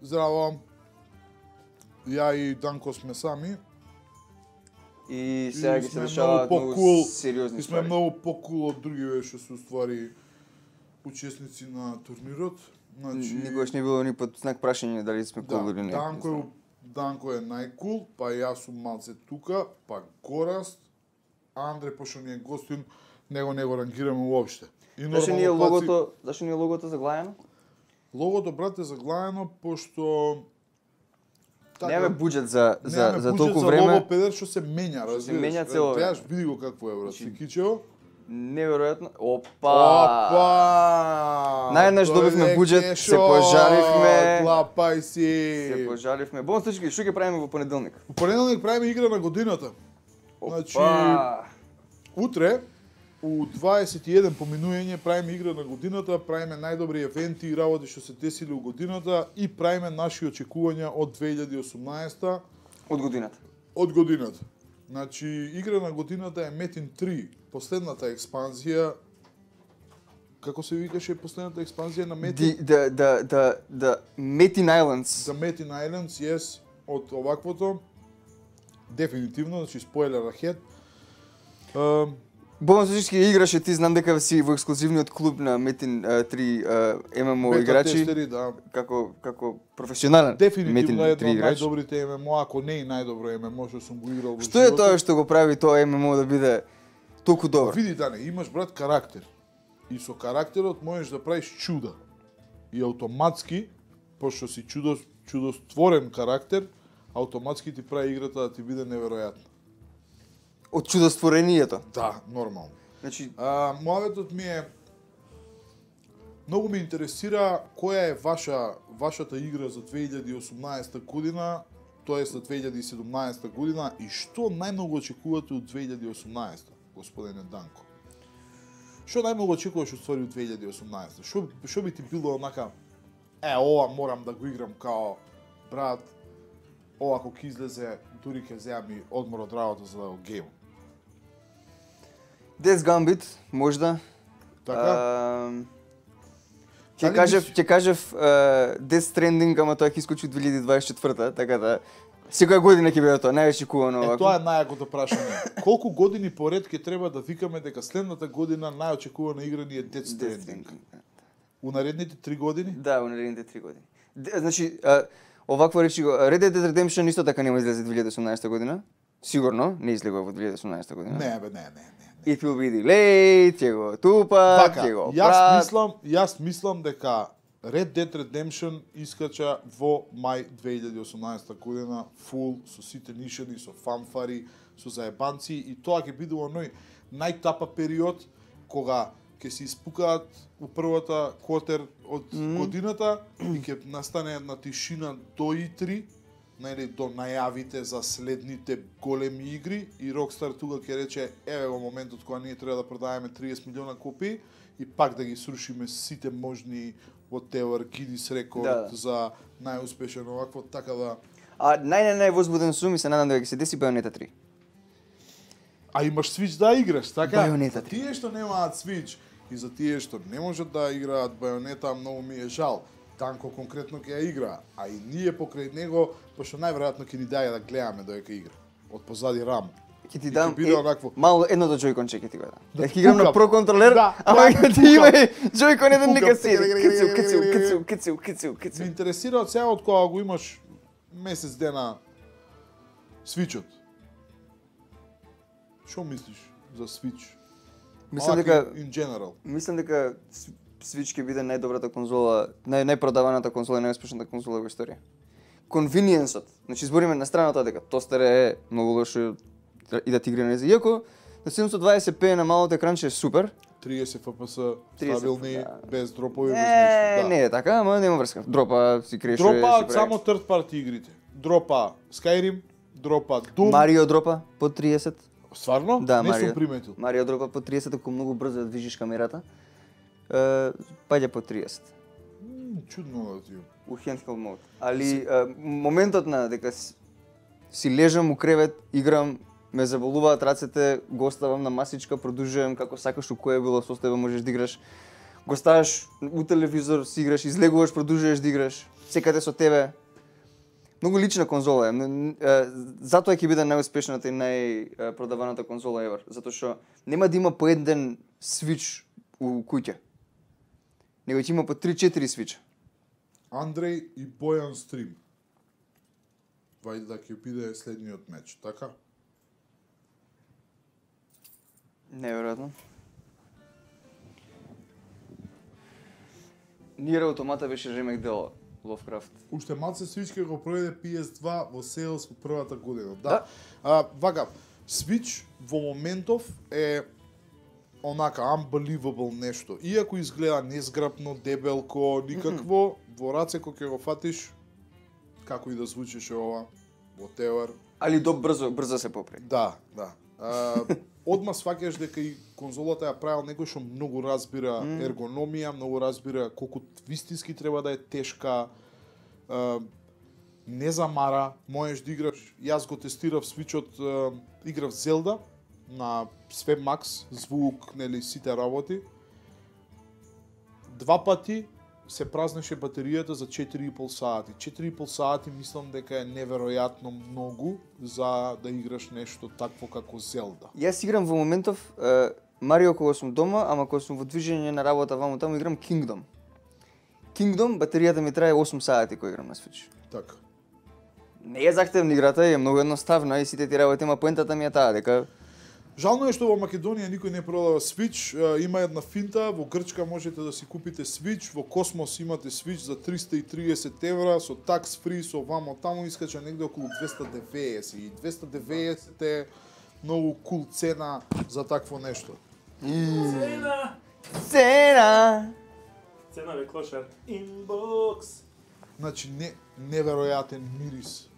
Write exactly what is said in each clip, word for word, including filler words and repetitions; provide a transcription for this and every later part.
Здраво. Ја и Данко сме сами. И сега И ги се сме решаваат многу многу по-кул, сериозни И сме ствари. многу покул од другиве што се уствари учесници на турнирот. Значи, Никогаш не било ни под знак прашање дали сме да, кул или не. Данко е, Данко е најкул, па јас сум малце тука, па Гораст, Андре, пошто ни е гостин, него не го рангираме уопште. И Зашо ни е нормално паци- логото, зашо ни е логото заглајано? Логото, брат, е заглајано, пошто... Немаме буџет за за немаме за буџет толку за време. лого педер што се менја, Што се разбираш. менја цело време. Гледаш, види го какво е, брат, Значи, Сикичево. Неверојатно. Опа! Опа! Наједнаш добивме буџет, се пожаривме. Клапај си. Се пожаливме. Бон случај, што ќе правиме во понеделник? Во понеделник правиме игра на годината. Значи, Опа! утре, у дваесет и еден поминување правиме игра на годината, правиме најдобри евенти и работи што се десиле у годината и правиме наши очекувања од две илјади и осумнаесета Од годината. од годината. Значи, игра на годината е Метин три, последната експанзија. Како се викаше последната експанзија на Метин? The the the the the Metin Islands. The Metin Islands, yes, од оваквото. Дефинитивно, значи спойлер ahead. Uh, Бон случај играше, ти знам дека си во ексклузивниот клуб на Metin три Ем Ем О бета играчи, тестери, да. како како професионален Дефинитивно Metin едно три од играч. најдобрите Ем Ем О, ако не и најдобро Ем Ем О што сум го играл во Што е животот. тоа што го прави тоа Ем Ем О да биде толку добро? Види, Дане, имаш, брат, карактер. И со карактерот можеш да правиш чуда. И автоматски, пошто си чудо, чудостворен карактер, автоматски ти прави играта да ти биде неверојатна. Од чудостворението. Да, нормално. Значи, А, мојаветот ми е многу ме интересира која е ваша вашата игра за две илјади и осумнаесета година, тоа е за две илјади и седумнаесета година и што најмногу очекувате од две илјади и осумнаесета, господине Данко? Што најмногу очекуваш од ствари од две илјади и осумнаесета? Што што би ти било онака е ова морам да го играм као брат, ова кога ќе излезе дури ќе земам и одмор од работа за да го геймам. Death Gambit, можда. Така? А, Ќе Дали кажев, мислиш- ќе кажев uh, Death Stranding, ама тоа ќе искочи две илјади дваесет и четврта, така да секоја година ќе биде тоа најочекувано Е, овако. тоа е најакото прашање. Колку години поред ќе треба да викаме дека следната година најочекувана игра ни е Death Death Stranding? Stranding. У наредните три години? Да, во наредните три години. Де- Значи, а, овакво речи го, Red Dead Redemption исто така нема излезе две илјади и осумнаесета година. Сигурно, не излегува во две илјади и осумнаесета година. Не, бе, не, не, не. It will be delayed, ќе го тупа, Вака, ќе го јас прат. мислам, јас мислам дека Red Dead Redemption искача во мај две илјади и осумнаесета година фул со сите нишани, со фанфари, со заебанци и тоа ќе биде оној најтапа период кога ќе се испукаат у првата квотер од Мгм. годината и ќе настане една тишина до И три, најде до најавите за следните големи игри и Rockstar тука ќе рече еве во моментот кога ние треба да продаваме триесет милиона копии и пак да ги срушиме сите можни whatever Guinness рекорд Да. за најуспешен овакво, така да... А нај нај највозбуден сум и се надам дека ќе се деси Bayonetta три. А имаш Switch да играш, така? Bayonetta За тие што немаат Switch и за тие што не можат да играат Bayonetta, многу ми е жал. Данко конкретно ќе ја игра, а и ние покрај него, пошто најверојатно ќе ни даде да гледаме додека игра. Од позади рам. Ќе ти И дам ќе биде онакво. мало едното Joy-Con ќе ти го дам. Да Да ќе играм на пукам. Pro контролер, Да, ама да, ќе ти пукам. има и Joy-Con еден Пукам. нека си. Кицу, кицу, кицу, кицу, кицу, Ме кицу. интересира од сега од кога го имаш месец дена Switch-от. Што мислиш за Switch? Мислам Малку дека in general. мислам дека С- Switch ќе биде најдобрата конзола, нај најпродаваната конзола и најуспешната конзола во историја. Конвиниенсот. Значи збориме на страна тоа дека тостер е многу лошо и да ти игра на иако на седумстотини и дваесет пе на малото екранче е супер. триесет Ф П С, триесет, стабилни, да. без дропови, без Не, ништо. Да. не е така, ама нема врска. Дропа си креше. Дропаат само third party игрите. Дропа Skyrim, дропа Doom. Марио дропа по триесет. Стварно? Да, не Марио. сум приметил. Марио дропа по триесет, ако многу брзо ја движиш камерата. Е, паѓа по триесет. М, Чудно да ти. У handheld мод. Али е, моментот на дека с- си лежам у кревет, играм, ме заболуваат рацете, го оставам на масичка, продолжувам како сакаш, у кое било состојба можеш да играш. го ставаш у телевизор, си играш, излегуваш, продолжуваш да играш, секаде со тебе. Многу лична конзола е. Затоа ќе биде најуспешната и најпродаваната конзола ever, затоа што нема да има по еден Switch у куќа. Него ќе има по три-четири Switch. Андреј и Бојан стрим. Вајде да ќе биде следниот меч, така? Неверојатно. Ниер Автомата беше ремек дело Lovecraft. Уште малце Switch ќе го проведе пи ес два во Sales во првата година. Да. Да. А, вака, Switch во моментов е онака unbelievable нешто. Иако изгледа незграпно, дебелко, никакво, mm -hmm. во раце кога ќе го фатиш, како и да звучеше ова, whatever. Али до брзо, брзо се попре. Да, да. А, одма сваќаш дека и конзолата ја правил некој што многу разбира mm. ергономија, многу разбира колку вистински треба да е тешка, а, не замара, можеш да играш. Јас го тестирав Switch-от, играв Zelda на све Max, звук, нели сите работи. Два пати се празнеше батеријата за четири и пол сати. четири и пол сати мислам дека е неверојатно многу за да играш нешто такво како Zelda. Јас играм во моментов е, Марио кога сум дома, ама кога сум во движење на работа ваму таму играм Kingdom. Kingdom батеријата ми трае осум сати кога играм на Switch. Така. Не е захтевна играта, е многу едноставна и сите ти работи, ама поентата ми е таа дека Жално е што во Македонија никој не продава Switch, има една финта, во Грчка можете да си купите Switch, во Космос имате Switch за триста и триесет евра, со tax free, со вамо таму искача негде околу двеста и деветдесет и двеста и деветдесет е многу кул цена за такво нешто. Цена! Цена! Цена ве клошар. Inbox! Значи не неверојатен мирис.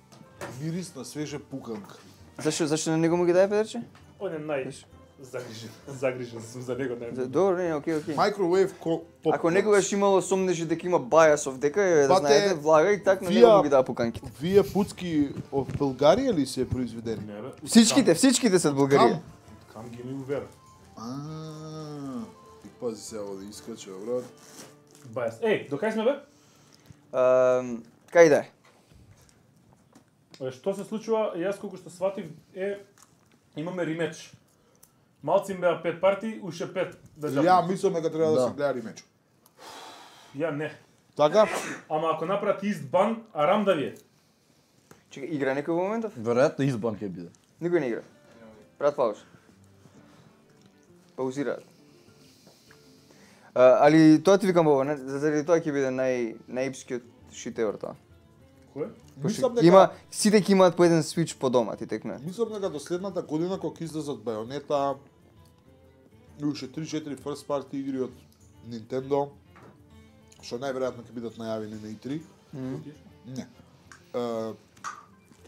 Мирис на свежа пуканка. Зашо зашо на него му ги даде Петерче? Он е нај загрижен. Загрижен сум за него нај. Добро, не, окей, окей. Microwave ко- попкорн. Ако некогаш имало сомнеше дека има бајасов дека е, да Бате, знаете, влага и так на вија- него му ги дава пуканките. Вие пуцки од Българија ли се произведени? Не бе. Всичките, всичките се од Бугарија. Кам ги ми увер. А, и пази се ово да искача, брат. Бајас. Еј, до кај сме бе? Ам, кај да е? Е, Што се случува, јас колку што сватив е имаме ремеч. Малци им беа пет парти, уште пет да Ја жапнат. мислам дека треба да, Да. се гледа ремеч. Ја не. Така? Ама ако направат ист бан, арам да ви е. Чекај, игра некој во моментов? Веројатно избан ќе биде. Никој не игра. Брат пауз. Паузираат. А, али тоа ти викам ова, не, заради тоа ќе биде нај најипскиот шит евер тоа. Кој? Мислам Ќе дека има сите ќе имаат по еден Switch по дома, ти текне. мислам дека до следната година кога ќе излезат Байонета и уште три-четири first party игри од Nintendo, што најверојатно ќе бидат најавени на и три. Не. Е,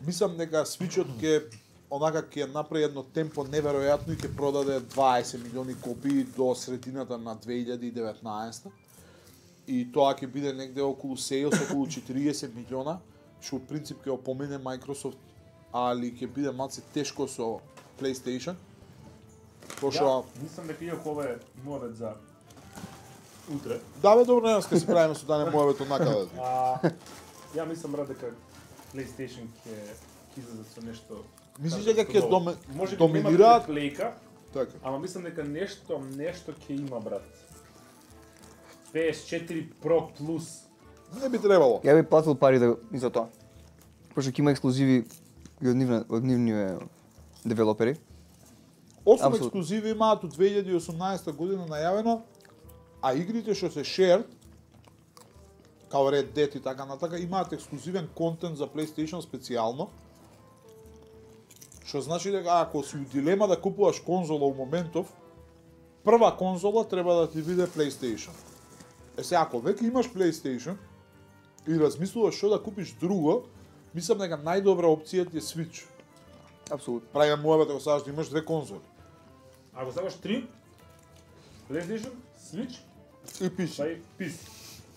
мислам дека Switch-от ќе онака ќе направи едно темпо неверојатно и ќе продаде дваесет милиони копии до средината на две илјади и деветнаесета. И тоа ќе биде негде околу sales, околу четириесет милиона, што од принцип ќе опомене Microsoft, али ќе биде малце тешко со PlayStation. Пошто Ја, мислам дека иако ова е муавет за утре. да бе добро, денес ќе се правиме со Дане Моевето накаде. А, ја мислам брат дека PlayStation ќе ќе излезат со нешто. Мислиш како дека ќе ново. доме- Може би доминираат? нема лейка, Така. ама мислам дека нешто нешто ќе има брат. пе ес четири Pro Plus. Не би требало. Ја би платил пари да и за тоа. Пошто ќе има ексклузиви и од нивна од нивни девелопери. Осум Апсолутно. ексклузиви имаат од две илјади и осумнаесета година најавено, а игрите што се shared, као Red Dead и така натака, имаат ексклузивен контент за PlayStation специјално. Што значи дека ако си у дилема да купуваш конзола у моментов, прва конзола треба да ти биде PlayStation. Е се, ако веќе имаш PlayStation и размислуваш што да купиш друго, мислам дека најдобра опција ти е Switch. Апсолутно. Правиме муавет ако сакаш да имаш две конзоли. Ако сакаш три, PlayStation, Switch, И пиши. па и пи си.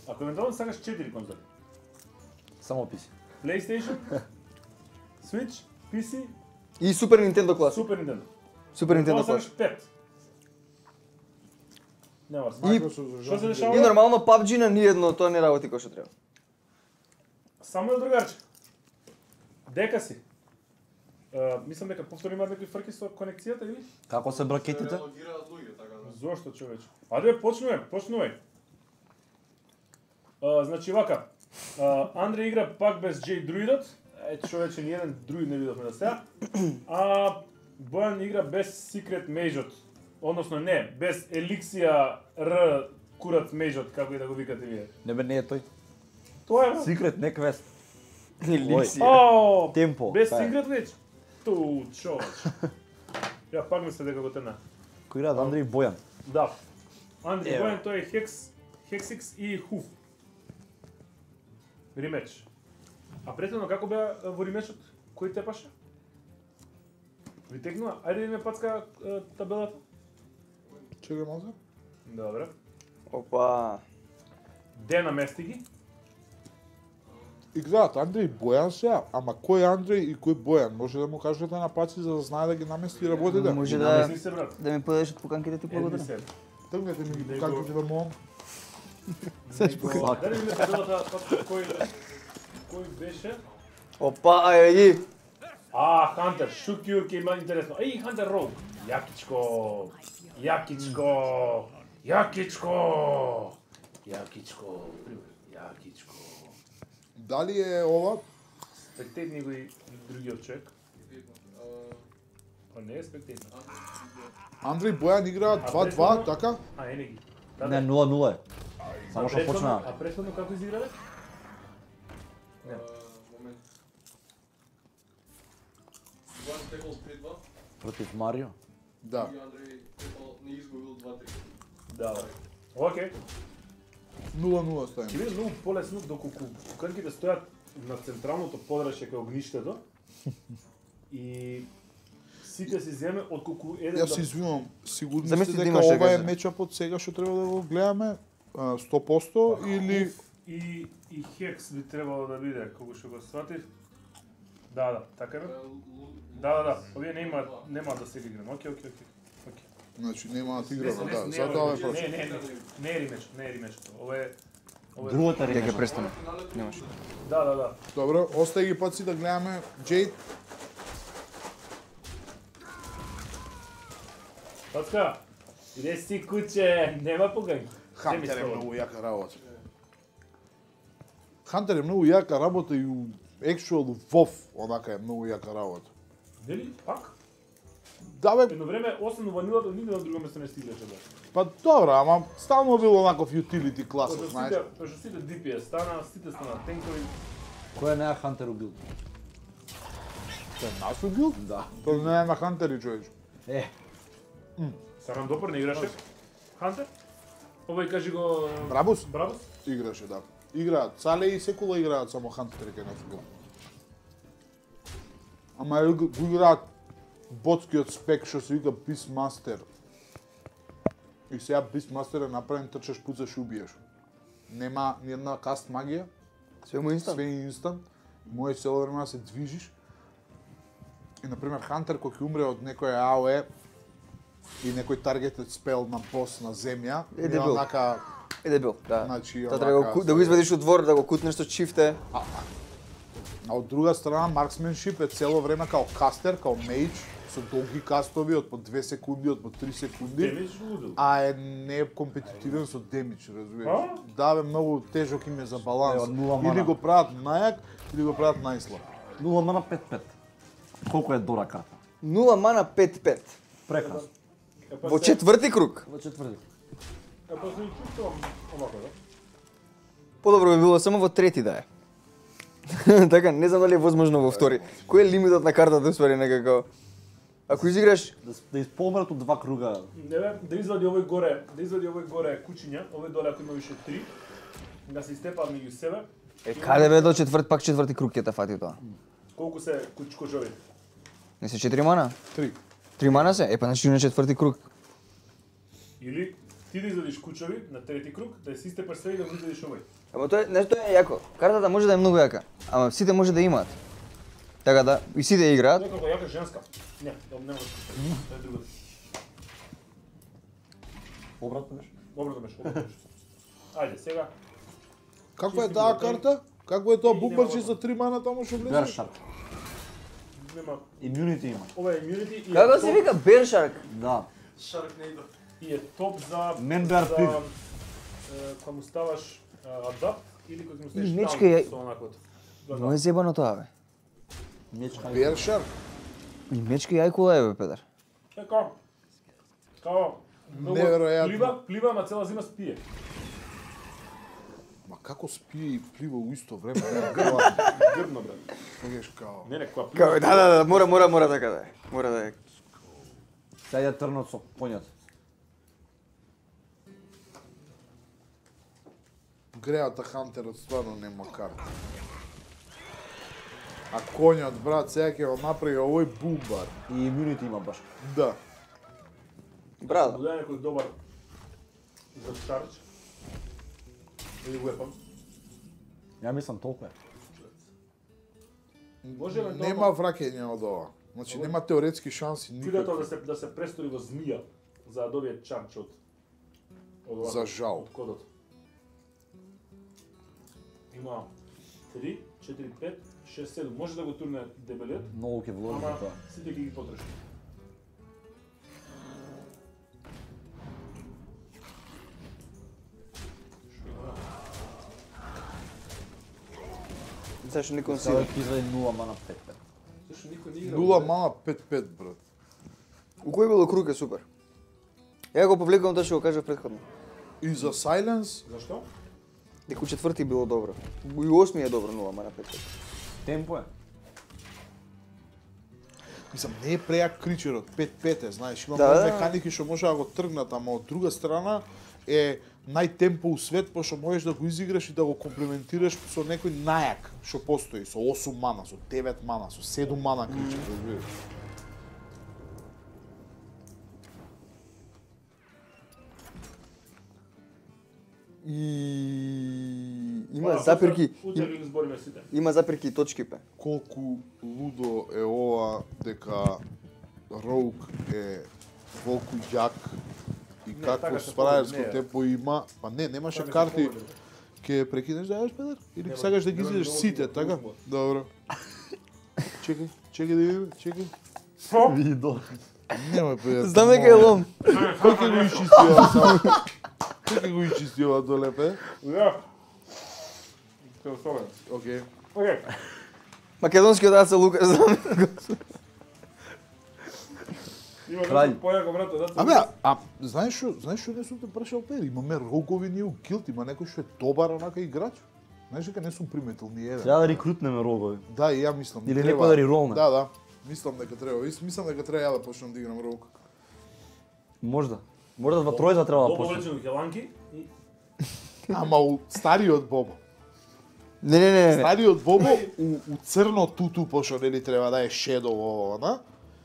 Ако евентуално сакаш четири конзоли. Само писи. PlayStation, Switch, пи си, И Супер Нинтендо клас. Super Nintendo. Супер Евентуално Нинтендо клас. сакаш пет. Нема И- смисла. Што Што се И дешава? нормално P U B G на ниедно тоа не работи кој што треба. Само е другарче. Дека си. Uh, мислам дека повтори имаат некои фрки со конекцијата или? Како се бракетите? Зошто човече? Аде почнуваме, почнувај. Uh, значи вака. Uh, Андре игра пак без J друидот. Е човече ни еден друид не видовме до сега. А Бојан игра без Secret Mageот. Односно не, без Еликсија Р Курат Mageот, како и да го викате вие. Не бе, не е тој. Тоа е. Секрет, не квест. Еликсија. О, Темпо. без Та е. Secret Mage. Ту, човеч. Ја пак мисле дека го тена. Кој играат Андреј Бојан. Да. Андри Ево. Бојан тој е Хекс, Хексикс и Хуф. Римеч. А претходно како беа е, во римечот? Кој тепаше? Ви текнува? Ајде да ми пацка е, табелата. Чекај малку. Добре. Опа. Де намести ги? Играат Андреј и Бојан сега, ама кој е Андреј и кој Бојан? Може да му кажете на паци за да знае да ги намести работите? Може да Намести се, брат. да ми подадеш од поканките ти Едни благодарам. се. Тргнете ми ги Него- поканките да му. Него- Даде ми табелата, пацка, кој... Кој беше? Опа, ајде ги. А, Хантер, Шукјур ке има интересно. Еј, Хантер Роуд. Јакичко. Јакичко. Јакичко. Јакичко. Јакичко. Дали е ова? Спектетни го и другиот човек. Па не е спектетно. Андреј и Бојан играат А два два, претходно- така? А, е не ги. Да, Не, да. нула нула е. А Само што претходно- почна. А претходно како изиграле? Не. Момент. Бојан текол три два Против Марио. Да. и Андреј текол не изгубил два три. Да, да. Океј. нула нула Ќе ставим. биде многу полесно доколку куканките стојат на централното подрачје кај огништето и сите си земе отколку еден Јас се извинувам, сигурни Замисли сте да дека имаше ова е газа. мечапот сега што треба да го гледаме а, сто проценти или и и Хекс би требало да биде, кога што го сватив. Да, да, така е. бе? Да, да, да. Овие нема нема да се ги играме. Океј, океј, океј. Океј. значи нема да Не, играме, не, да, не, затоа е не, просто. Не, не, не, не е римеч, не е римеч. Ова е ова е Другата Дека ремеш. престане. Немаш. Да, да, да. Добро, остај ги паци да гледаме Джейд. Пацка, иде си куче, нема погањ. Хантер е многу јака работа. Хантер е многу јака работа и у actual WoW онака е многу јака работа. Нели? Пак? Да бе, Едно време, освен ванилата, нигде на друго место не стигаше да. па добро, ама стално бил онаков utility класа, Пошто знаеш. сите, пошто сите ди пи ес стана, сите стана тенкови. Кој е неа Хантер убил? Тој е нас убил? Да. Тој не е на Хантери, човеч. Е, Сарам Допор не играше. Хантер? Овој кажи го... Брабус? Брабус? Играше, да. Играат, Сале и Секула играат само Хантери кај нас убил. Ама е, го играат ботскиот спек што се вика Beastmaster. И сега Beastmaster е направен трчаш, пуцаш и убиеш. Нема ни една каст магија, Све му инстант. све е инстант. Може цело време да се движиш. И например Хантер кој ќе умре од некој АОЕ и некој таргетед спел на бос на земја, Е, е дебил. онака, Е дебил, да. значи, Тоа треба да го ку- да го извадиш од двор, да го кутнеш со чифте. А од друга страна, марксменшип е цело време као кастер, као мейдж, со долги кастови од по две секунди, од по три секунди, Демидж лудо. а е не е компетитивен со демидж, разбираш? А? Да, бе, многу тежок им е за баланс. Е, од нула Или мана. го прават најак, или го прават најслаб. нула мана пет пет. Колку е дора карта? нула мана пет пет. Прекрасно. Е, па Во се- четврти круг. Во четврти. Е, па се и чувствувам овако, да? Подобро би било само во трети да е. Така, не знам дали е возможно во втори. Кој е лимитот на картата, уствари некако? Ако изиграш, Да, с- да исполнат од два круга. Не бе, да извади овој горе, да извади овој горе кучиња, овој доле ако има више три, да се истепаат меѓу себе. е каде бе до четврт, пак четврти круг ќе те фати тоа. Колку се кучкожови? Не се четири мана? Три. Три мана се? Е, па значи на четврти круг. Или ти да извадиш кучови на трети круг, да се истепаш све и да го извадиш овој. Ама тоа е, знаеш, тоа е јако. Картата може да е многу јака, ама сите може да имаат. Така да, и сите играат. Тоа е како јака женска. Не, тоа не може. Тоа е друго. Обратно беше. Обратно беше, обратно беше. Ајде, сега. Каква е Чисти таа го, карта? Какво е тоа И бумбарче нема за три мана таму што влезе? Бершарк. Нема, Immunity има. ова е immunity и е Како се топ- вика Бершарк? Да. Sharknado. и е топ за Мен беа за пив. е, кога му ставаш адапт или кога му ставаш И мечка таун ја- со онаквото. Да, Но да. е зебано тоа, бе. Мечка. Бершарк. И мечка јајкула е, бе, Петар. Така. Као многу Неверојатно. плива, плива, ама цела зима спие. Ма како спие и плива у исто време? Не, Грбно, брат. Кажеш као. Не, не, кога плива. Како, да, да, да, мора, мора, мора така да е. Мора да е. Сега ја трнат со конјот. Греата Хантерот стварно нема карта. А конјот, брат, сега ќе го направи овој бумбар. И Immunity има баш. Да. Брат, Додај некој добар за charge. Или weapon. Ја мислам толку е. Може евентуално- Нема враќање од ова. Значи нема теоретски шанси Видеото никакви. да се да се престори во змија за да добие charge од од овако- За жал. од кодот. Има три, четири, пет, шест, седум. Може да го турне дебелиот, Многу ќе вложи ама за тоа. сите ги ги потроши. зашто никон Сега си. ќе излезе нула мана пет пет. Зашто никој не игра? Нула мана пет пет, брат. У кој било круг е супер. Ја го повлекувам тоа што го кажав претходно. И за Silence, Зашто? Дека у четврти било добро. И у осми е добро нула мана пет пет. Темпо е. мислам, не е прејак кричерот, пет пет е, знаеш, има Да, да, да. механики што може да го тргнат, ама од друга страна е најтемпо у свет, пошто можеш да го изиграш и да го комплементираш со некој најак што постои, со осум мана, со девет мана, со седум мана кричер, разбираш. И има Ова, запирки, Утре им- ги избориме сите. има запирки и точки пе. Колку лудо е ова дека Роук е волку јак и Не, какво така се спраерско повеќе, не. темпо има, па не, немаше Така се карти. повеќе. Ќе прекинеш да јаш, Петар? Или Нема, сакаш да ги нема изидеш многу сите, типа, така? узмо. Добро. Чекај, чекај да видиме, чекај. Види до. Немој, Петар. Знам дека е лом. Кој ќе го изчисти ова само? Кој ќе го изчисти ова доле, пе? Ја. Те особено. Океј. Океј. Македонскиот аца Лукас, знам. Има Краљ. нешто појако брато, да. Абе, а, а знаеш што, знаеш што не сум те прашал пе? Имаме рогови ние у Килт, има некој што е добар онака играч? Знаеш дека не сум приметил ни еден. Треба да рекрутнеме рогови. Да, и ја мислам. Или треба- некој да риролне. Да, да. Мислам дека треба. Ис- Мислам дека треба ја да почнам да играм рог. Можда. Можда во тројца треба да Бобо почне. влечено хеланки и Ама у стариот Бобо. Не, не, не, не. Стариот Бобо у, у црно туту, пошто нели треба да е шедово ова, на?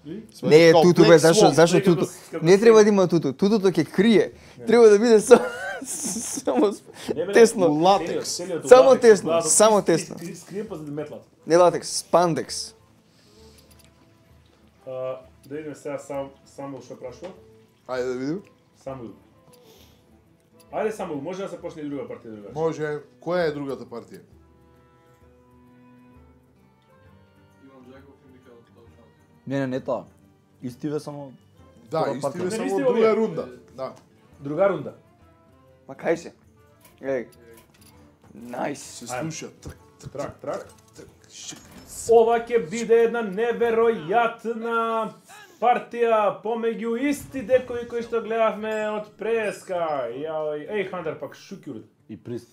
и Не е Као туту, Black бе, зашто, Swan. зашто Некако туту? с- како Не с- треба да има туту. Тутуто ќе крие. Треба да биде само само Не, бе, тесно. у латекс. целиот- целиот у Само латекс, тесно, главата, само скри- тесно. скри- Скриен па за да метлат. Не латекс, спандекс. А, да видиме сега сам Самуил што прашува. Ајде да видим. Самуил. Ајде Самуил, може да се почне и друга партија другаш. Може, која е другата партија? Иван Джаков и Микаел Толчан. Не, не, не тоа. Истиве само Да, Втора истиве партија. само Не, истиве друга овие. рунда. Да. Друга рунда. Ма кај се? Еј. Најс. Се Ајде. слуша. Трк, трк, Трак, трак. трк, шик. Ова ќе биде една неверојатна партија помеѓу исти декови кои што гледавме од преска. Јај, еј Хантер пак шукјур. и прист.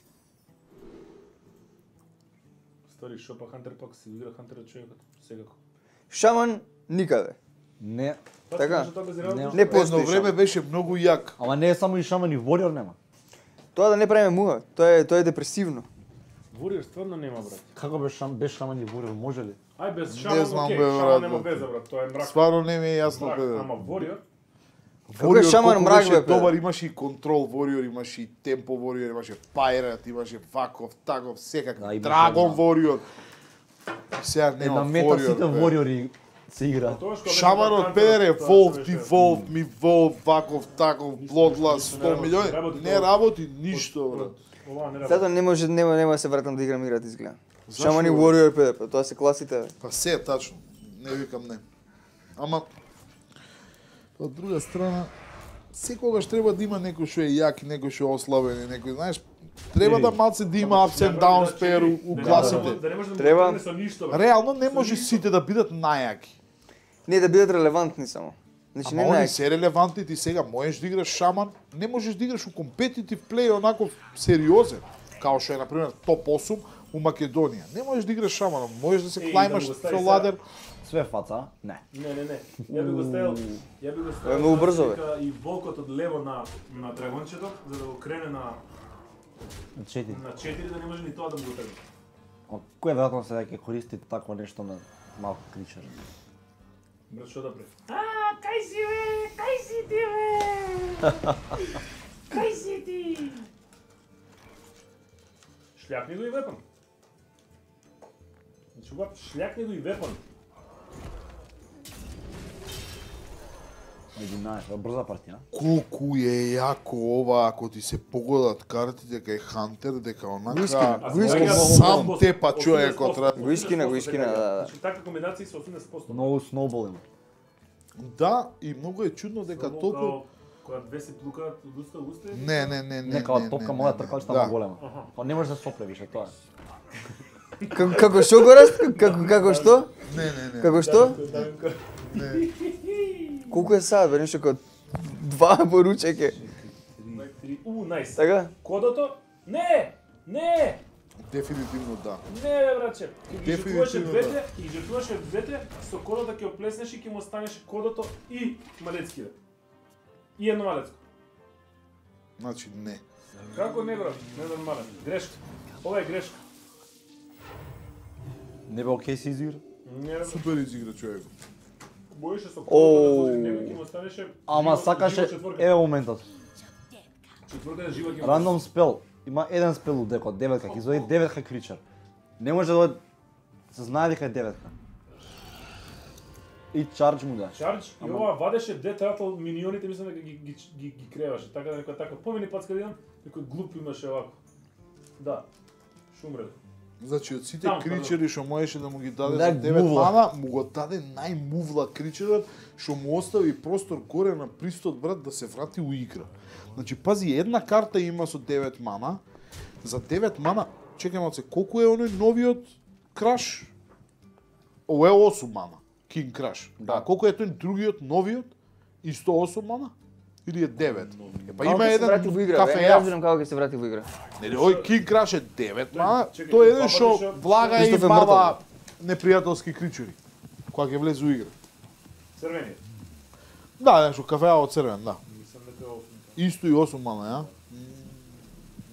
Стори шо па Хантер пак се игра Хантерот човекот секако. Шаман никаде. Не, Па, Така. што тоа без реално Не. ништо Не прави. по- Едно време беше многу јак. ама не е само и шаман и Warrior нема. Тоа да не правиме муа, тоа е тоа е депресивно. Warrior стварно нема брат. Како без шам без шаман и Warrior може ли? Ај без Не Шаман, знам, окей, бе, Шаман брат, нема брат. веза брат, тоа е мрак. Стварно не ми е јасно, Мрак, пе. ама Warrior Како е Warrior Шаман колку мрак, беше бе, пе? добар, имаше и контрол Warrior, имаше и темпо Warrior, имаше Pirate, имаше ваков, таков, секак, Да, имаше Dragon една- Warrior. Сега Една нема мета Warrior. сите бе. Warriori се игра. Тоа што Шаманот педере, тоа волф, што ти беше- волф, ми волф, ваков, таков, блодлас, сто милиони. Не работи ништо, брат. Ова не работи. Затоа не може нема нема да се вратам да играм играт изгледа. Зашо, Шамани бе? Warrior пе ди пи, тоа се класите. Бе. Па се е тачно. Не викам не. Ама од друга страна секогаш треба да има некој што е јак и некој што е ослабен и некој, знаеш, треба да малце да има ups and downs пер у у Да не класите. може да не може да му Треба. тргне со ништо. бе. Реално не може сите да бидат најаки. Не да бидат релевантни само. Значи Ама не они најак. се релевантни, ти сега можеш да играш шаман, не можеш да играш у компетитив плей онаков сериозен, као што е на пример топ осум у Македонија. Не можеш да играш шаман, можеш да се Еј, клајмаш да го стави со сега. ладер. Све фаца, не. Не, не, не. Ја би го ставил, ја би го Тоа е ставил многу брзо, бе. така и волкот од лево на на драгончето за да го крене на Четири. на четири да не може ни тоа да му го тргне. А кој веројатно се ќе користи такво нешто на малку кричер? Брат, што да прави? А, кај си бе? Кај си ти бе? Кај си ти? Шљакни го и вепан. Значи, ова шљакни го и вепан. единаесет, брза партија. Колку е јако ова ако ти се погодат картите кај Хантер, дека онака Уискина, А уискина. сега сам осумдесет тепа проценти, човекот. осумдесет Го искина, го проценти искина, сега. да, да. Значи, така комбинација со осумдесет проценти. Многу сноубол има. Да, и многу е чудно дека Само толку као кога две се плукаат од уста во уста. не, не, не, не. Не као не, топка не, моја не, тркалчета да. да. голема. Аха. Па не може да сопле више тоа. Како како што го раст? Како како што? Не, не, не. Како што? Не. Колку е сад, бе, нешто како два поручеке. У, најс. Така? Кодото? Не! Не! Дефинитивно да. Не, бе, братче. Ќе ги жртвуваше Дефинитивно двете, ќе ги жртвуваше двете, со кодото ќе оплеснеш и ќе му останеше кодото и малецки. И едно малецко. Значи не. Како не, брат? Не нормален. Грешка. Ова е грешка. Не бе окей се изигра. Не, бе. Супер изигра човек. Боеше со Оу. кодото, него ќе му останеше. Ама живо- сакаше живо четворка. еве моментот. Четворка е жива ќе му Рандом спел. Има еден спел у декот, деветка, ќе извади деветка кричер. Не може да дојде- се знае дека е деветка. И чардж му да. Чардж и ова вадеше де тратал минионите, мислам дека ги ги ги, ги креваше. Така да некој така помени пат каде еден, некој глуп имаше овако. Да. Шумре. Значи од сите Таму, кричери што можеше да му ги даде за Нај девет мувла. мана, му го даде најмувла кричерот што му остави простор горе на пристот брат да се врати у игра. Значи пази, една карта има со девет мана. За девет мана, чекај малце, колку е оној новиот краш? Ово е осум мана. King Crash. Да. А колку е тој другиот новиот? Исто осум мана? Или е девет? Е, па има Како ќе се еден врати во игра, бе? кафе Не јав. разбирам како ќе се врати во игра. Нели, овој King Crash е девет мана, чекај, тој е еден папа што беше- влага и Кристоф е бава непријателски кричери. Кога ќе влезе у игра. Црвениот. Да, нешто кафеа од црвен, да. Мислам дека е осум. Исто и осум мана, ја?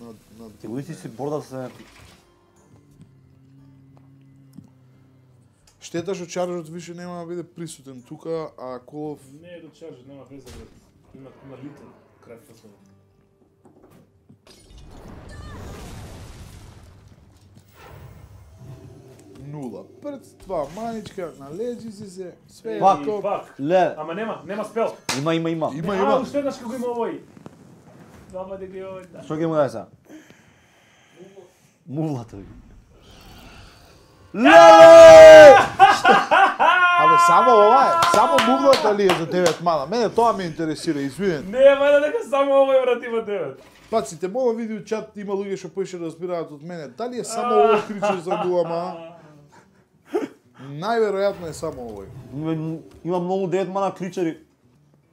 На, на... Ти го си борда се Штета што Чарджот више нема да биде присутен тука, а Колов... Не е до чарж, нема веза, брат. Има има литл крај фасона. Нула. Пред два маничка, належи си се, све е Пак. И топ. пак. ле, Ама нема, нема спел. има има има. Има, А, има. уште еднаш како има овој. Двама дека е овој, да. Што ќе му даде сега? Мувлата ви. Абе, само ова е, само мувлата ли е за девет мана? Мене тоа ме интересира, извинете. Не, ма дека само овој брат има девет. Паците, мога видео чат, има луѓе што поише разбираат од мене. Дали е само овој кричер за нула мана? Најверојатно е само овој. Има- Има многу девет мана кричери.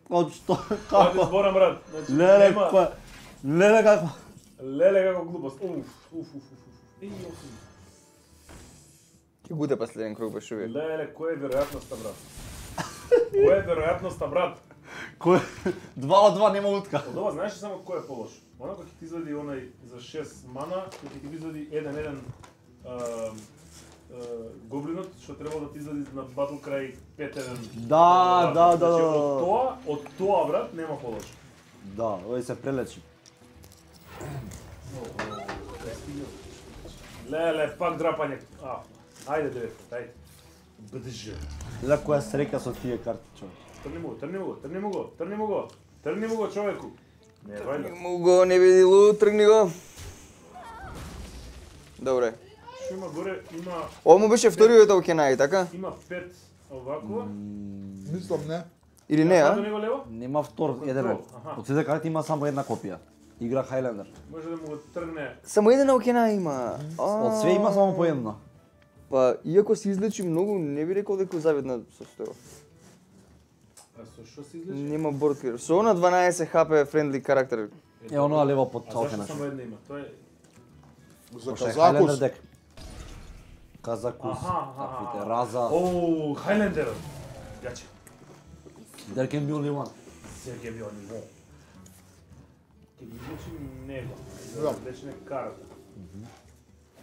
Од што? Тоа ти Како? зборам брат. Значи, Леле, нема- кој? Леле како? Леле како глупост. Уф, уф, уф, уф. уф. Еј, осум. Ќе буде последен круг беше увек. Леле, кој е веројатноста брат? Кој е веројатноста брат? Кој? Два од два нема утка. Од ова знаеш ли само кој е полош? Она кој ќе ти извади онај за шест мана, кој ќе ти извади еден еден гоблинот што требало да ти извади на батл крај пет еден. Да, да, да, Значи, да. од тоа, од тоа брат нема полош. Да, овој се прелечи. Леле, пак драпање. А, ајде девет, ајде. БДЖ. За која среќа со тие карти, човек. Трни му го, трни му го, трни му го, трни му го. Трни му го, човеку. Не, вајда. Му го не видилу, тргни го. Добре. Што има горе, има Ова му беше вториот Окенај, така? има пет овако. Мислам не. Или не, До а? него лево? Нема втор, Контрол, еден. аха. Од сите карти има само една копија. Игра Хайлендер. Може да му го тргне. Само еден Окенај има. Од све има само по една. Па, иако се излечи многу, не би рекол дека завидна состојба. А со што се излечи? Нема борд. Со она дванаесет хп френдли карактер. Е, оноа лево под А зашто Окенаш. само една има? Тоа е За Пошто е Хайлендер Казакус. дек. Казакус, Аха, аха, таквите, аха. Раза. Оу, Хайлендер. Гача. There can be only one. Сергеј бил ниво. Ке ги излечи него. Да. За да излечи карата.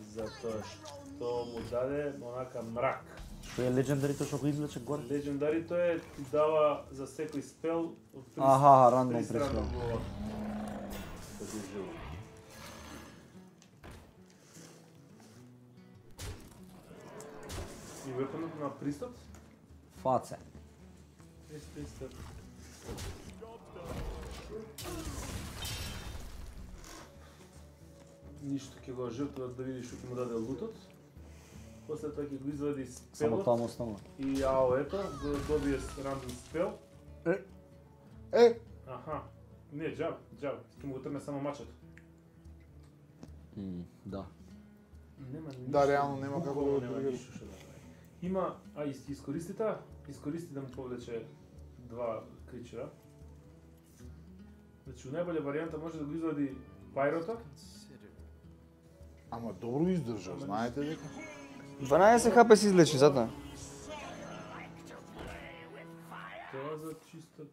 Затоа што му даде онака мрак. Што е легендарито што го излече горе? Легендарито е ти дава за секој спел од три Аха, рандом три страна преспел. го задужува. И вепонот на пристап? Фаце. Пристап. Ништо ќе го жртвува да види што ќе му даде лутот. После тоа ќе го извади Само спелот тоа му останува. и АО-ето за да добие рандом спел. Е, Аха. Не, джаб, джаб. Ќе му го трне само мачето. М, Да. Нема ништо. Да, реално нема како да го нема одбере. ништо што да прави. Има, а ис- искористи таа, искористи да му повлече два кричера. Значи, у најболја варијанта може да го извади Пайрота. ама добро издржа, знаете дека. дванаесет хп се излечи, затоа. Тоа за чисто...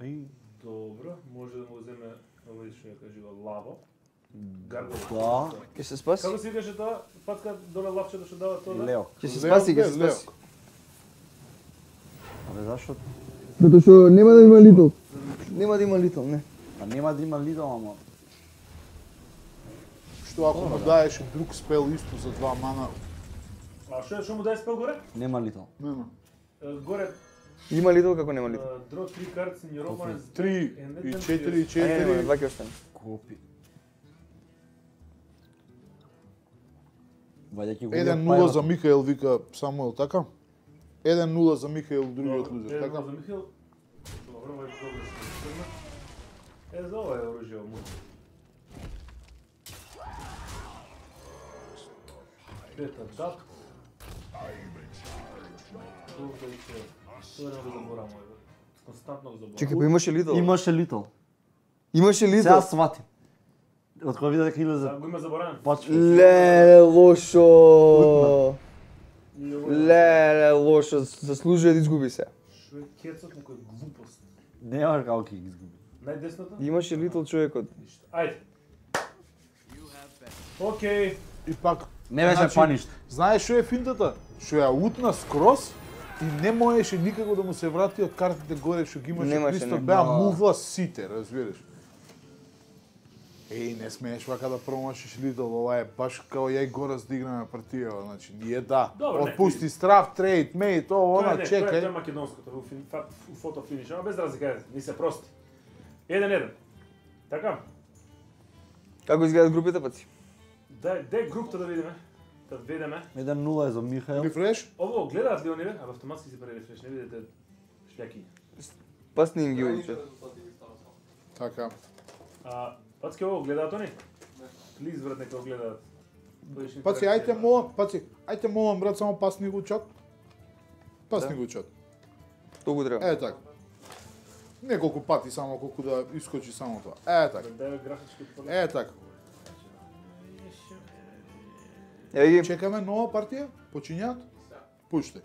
Еј, Добро, може да му земе овој што ја кажува лаво. Гаргол. Да. Ќе се спаси? Како се викаше тоа? Патка доле лапчето што дава тоа? да? Лео. Ќе се Лео, спаси, ќе бе, се Лео. спаси. Абе зашо? Затоа што нема да има литл. Нема да има литл, не. Па нема да има лидал, ама Што ако му даеше друг спел исто за два мана, А што е што му даде спел горе? нема лидал. нема. Е, Горе Има литл како нема литл. дро три карти in your opponent's Три deck and let и them четири и choose. А, не, нема, четири. два ќе остане. Копи. Ваѓајќи го еден нула за Михаел, вика Самуел, така? еден нула за Михаел, другиот Добро, лузер, едно така? за Михаил. Добро, овој добро се тргна. Е, за ова е оружје му. Пета дат. Добро и се. Тоа не го заборавам, еве. Константно го заборавам. Чекај, па имаше литл. Имаше литал. Имаше литл. Сега сватим. Од кога видя дека Да, излезе го има заборавен. почва. Леле, лошо. И овој- Леле, лошо. Заслужува да изгуби се. Шо е кецот, некој глупост. Нема како ќе ги изгуби. Најдесната? Имаше литл човекот. Ништо. Ајде. Океј. И пак, Не беше Значи, паништ. знаеш што е финтата? Што ја утна скроз и не можеше никако да му се врати од картите горе што ги имаше Немаше, Кристо, не. беа Да. мувла сите, разбираш? Еј, не смееш вака да промашиш Лидл, ова е баш као ја и Горас да играме партија, значи ние да. Добро, не, Отпусти страф, трейд, мейт, ово, Тоа она, не, тоа е, тоа е чекај. македонското, у, фин, фа- у фото финиш, ама без разлика е, ни се прости. Еден еден. Така? Како изгледат групите паци? Дај, дај групта да видиме. Да ведеме. еден нула е за Михаел. Рефреш? Ово гледаат ли оние? А автоматски се прави рефреш, не видите шљаки. Пасни им ги одиче. Така. А пацки ово гледаат они? Плиз брат нека го гледаат. Будеш Паци, ајте молам, паци, ајте молам брат, само пасни го чат. Пасни Да. го чат. Тоа го треба. Е така. Неколку пати само колку да искочи само тоа. Е така. Дај графички поглед. Е така. Еве ги. Чекаме нова партија? Почињаат? Пуште.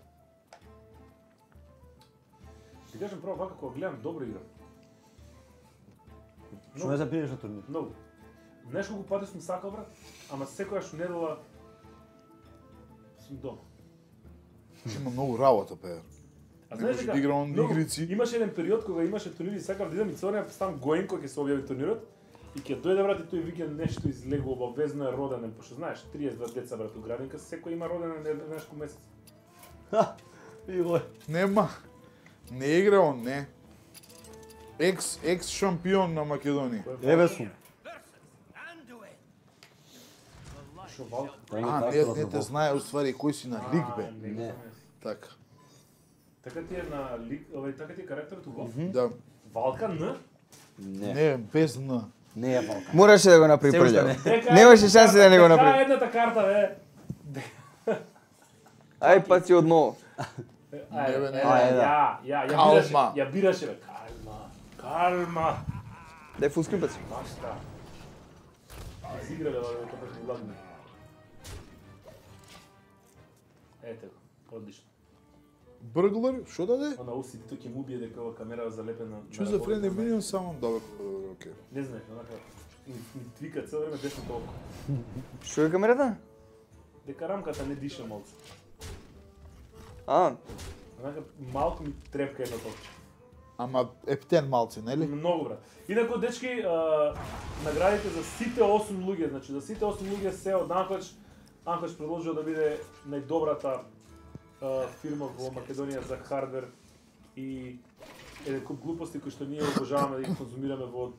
Ти кажам право вака кога гледам добро игра. Што не се пиеш на турнир? Многу. Знаеш колку пати сум сакал брат, ама секојаш недела сум дома. Има многу работа, пеер. А Не знаеш може дека да играм многу- игрици. Имаше еден период кога имаше турнири, сакав да идам и цорнев, сам гоен кој ќе се објави турнирот И ќе дојде брат и тој викенд нешто излегува, обавезно е родене, пошто знаеш, триесет два деца брат у градинка, секој има родене не знаеш кој месец. Иго. Нема. Не игра он, не. Екс екс шампион на Македонија. Еве сум. Шо Валка? А, не, не те знае уствари кој си на лиг бе. Не. Не. Така. Така ти е на лиг, овај така ти е карактерот у Валка? Да. Валка Н? Не. Не, без Н. Не е Валка. Мораше да го направи Се уште прљав. не. Дека Немаше едната шанси да не го карта, направи. Дека е едната карта бе. Ај па ти одново. Ај, Не, бе, не. е, Ај, да. ја, ја, ја Калма. бираше, ја бираше бе. Калма, калма. Дај фул скрин паци. Башта. Изиграле овој тоа беше гладни. Ете го, одлично. Бурглар, шо даде? Она уси тој ќе му убие дека ова камера залепена. Чу за френди милион само добро, добро, окей. Не знаеш, онака ми ми твика цело време десното око. Што е камерата? Дека рамката не диша малку. А, Онака малку ми трепка едно топче. Ама ептен малци, нели? Многу брат. Инаку дечки, а, наградите за сите осум луѓе, значи за сите осум луѓе се од Анкоч, Анкоч предложил да биде најдобрата а, фирма во Македонија за хардвер и еден куп глупости кои што ние обожаваме да ги конзумираме во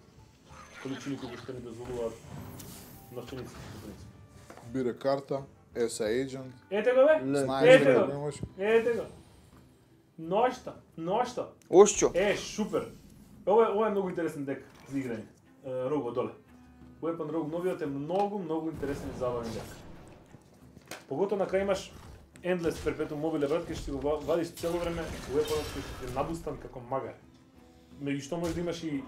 количини кои што ни дозволуваат новченици. Бира карта, ес ей Agent, Ете го бе, знаеш ете дека го, немаш. ете го. Ношта, ношта. Ошчо. Е, супер. Ова е, ова е многу интересен дек за играње. Е, Rogue одоле. Weapon Rogue новиот е многу, многу интересен и забавен дек. Поготоа на крај имаш Endless Perpetuum Mobile брат, кај што си го ва- вадиш цело време Weapon кој што ти е набустан како магар. Меѓу што можеш да имаш и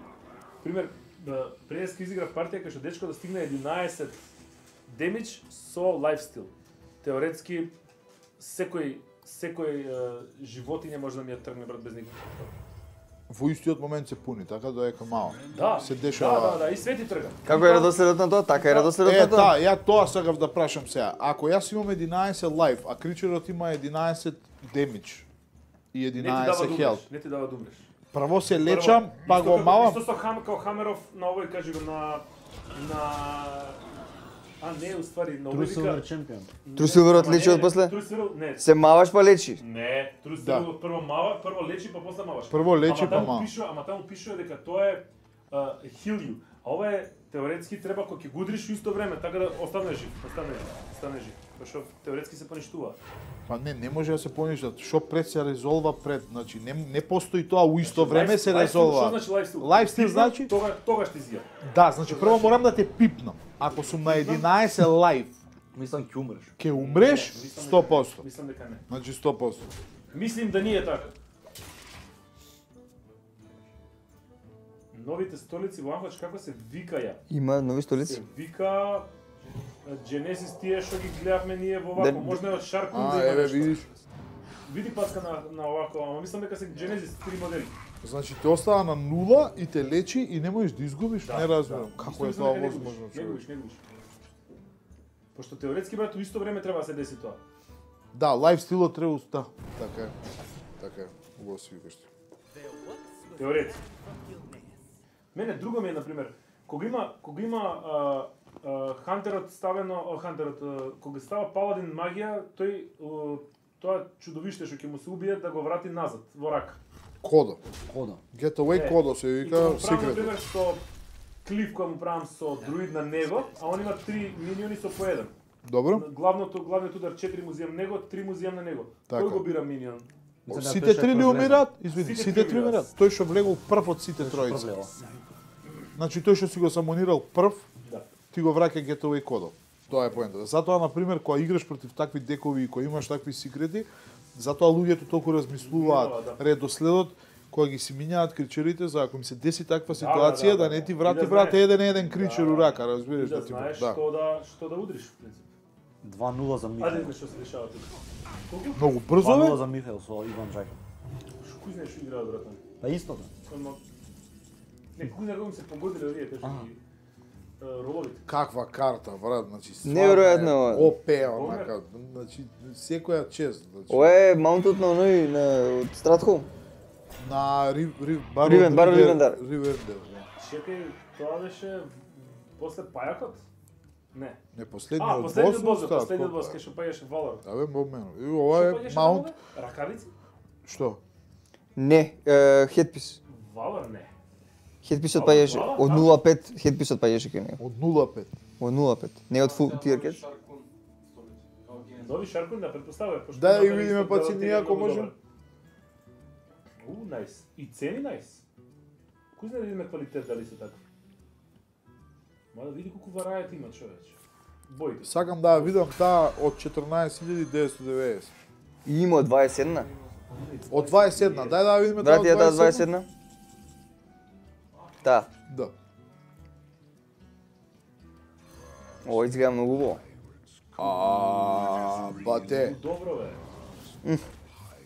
пример да преска изигра партија кај што дечко да стигне единаесет демидж со лайфстил. Теоретски секој секој е, животиње може да ми ја тргне брат без никаков проблем. Во истиот момент се пуни, така доека мало. Да, Се дешава. Да, да, да, и свети трга. Како е редоследот на тоа? Така е редоследот Е, на тоа. та, ја тоа сакав да прашам сега. Ако јас имам единаесет лайф, а кричерот има единаесет демидж и Не ти дава единаесет да хелп, умреш, не ти дава да умреш. прво се лечам, па Исто го како- малам. Исто со хам, као Хамеров на овој, кажи го, на... на... А, не, уствари, на овој Тру вика... Силвер чемпион. Тру Силверот Ама лечи не, од после? Тру Силвер, не, Се маваш па лечи. не, Тру Да. Силвер прво мава, прво лечи, па после маваш. Прво лечи, ама па таму мава. пишува, ама таму пишува дека тоа е а, heal you. А ова е теоретски треба кога ќе го удриш во исто време, така да остане жив, остане жив, остане жив. Зашто теоретски се поништува. Па не, не може да се поништат. Што пред се резолва пред, значи не не постои тоа у исто време се Лайфстил, резолва. Што значи лайфстил? Лайфстил значи Тога, тогаш ти зија. да, значи прво морам да те пипнам. Ако сум на единаесет лайф, Мислам ќе умреш. ќе умреш Не, мислам сто дека- проценти. Мислам дека не. Значи сто проценти. Мислим да не е така. Новите столици во Анкоч како се викаја? Има нови Се столици. вика Genesis тие што ги гледавме ние во вако, Да- можно е од Shark А, да има еве нешто. видиш. Види паска на на овако, ама мислам дека се Genesis три модели. Значи те остава на нула и те лечи и не можеш да изгубиш, не разбирам. Како Исто е мислам тоа дека не возможно, губиш, Не човек? губиш, не губиш. Пошто теоретски брат, у исто време треба да се деси тоа. Да, лайф стилот треба да. Така е. Така е. Убаво си викаш ти. Теоретски. Мене друго ми е, например, кога има, кога има а, а, хантерот ставено, а, хантерот, а, кога става паладин магија, тој а, тоа чудовиште што ќе му се убие да го врати назад во рака. Кодо. Кодо. Getaway Е, кодо се И вика кога му правам, секрет. например, со клиф која му правам со друид на него, а он има три миниони со по еден. Добро? Главното, главниот удар четири му земам него, три му земам на него. Така. Кој го бира минион? Мислам дека Сите тој што три е ли провлезен. умират? Извини, Сите сите три три умират. умират. Тој што влегол прв од сите Што тројца. проблема? Значи тој што си го самонирал прв, Да. ти го враќа Getaway кодо. Тоа е поентата. Затоа на пример кога играш против такви декови и кога имаш такви секрети, затоа луѓето толку размислуваат Мислуваат, да. редоследот кога ги си минјаат кричерите за ако ми се деси таква да, ситуација да, да, да. не ти И врати да брате знаеш. еден еден кричер Да. у рака, И разбираш да да ти знаеш да. што да што да удриш в принцип. два нула за Ајде Михаил. видиме што се дешава тука. Колку? Многу брзо два нула бе. за Михаил со Иван Джаков. Кој знаеш што играат брат? Па истото. Само не кој знае кога се погодиле овие кажи ги е, роловите. Каква карта, брат, значи стварно Неверојатно е ова. О П, Ова е- онака, значи секоја чест, значи. Ова е маунтот на оној на од Стратхолм. На Рив Рив Баро Ривен- Баро Ривендар. Ривендар, да. Чекај, тоа беше после пајакот? Не. Не А, последниот последниот бос, остава, последниот колко бос е? кај што паѓаше Valor. Да бе, момено. И ова е Што паѓаше маунт. Valor? Ракавици? Што? Не, е, хедпис. Valor не. Хедписот Ала, паѓаше ала, од да. нула пет, хедписот паѓаше кај него. Од нула пет. Од нула пет. Не од фул тир кет. Шаркун, столици, као Генез. Дови Шаркун да претпоставува. пошто Да, има и да видиме исто па делот цени, е ако многу можем. добар. У, најс. И цени најс. Кој знае да видиме квалитет дали се така? Ма да види колку варајат има човече. Боите. Сакам да ја видам таа од четрнаесет илјади деветстотини и деветдесет. И има од дваесет и една. Од дваесет и една, дај да ја видиме таа Брати ја таа дваесет и една? Та. Да. Ова изгледа многу убаво. А, бате. Добро бе.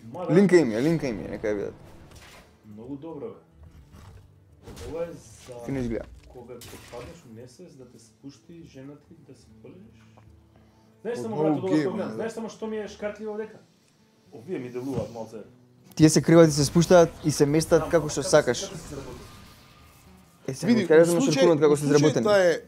Ма да, Линка им е, линка им е, нека ја видат. многу добро бе. Ова е за Фино изгледа. кога ќе паднеш у несвест да те спушти жената и да се полежиш. Знаеш Од само многу брато добро што гейм, гледам. да. Знаеш само што ми е шкартливо дека? Овие ми делуваат малце. Тие се криват и се спуштаат и се местат како што сакаш. Како се заработи? Е, се Види, кажеш у на случај, шаркунот како у се случај изработени. таа е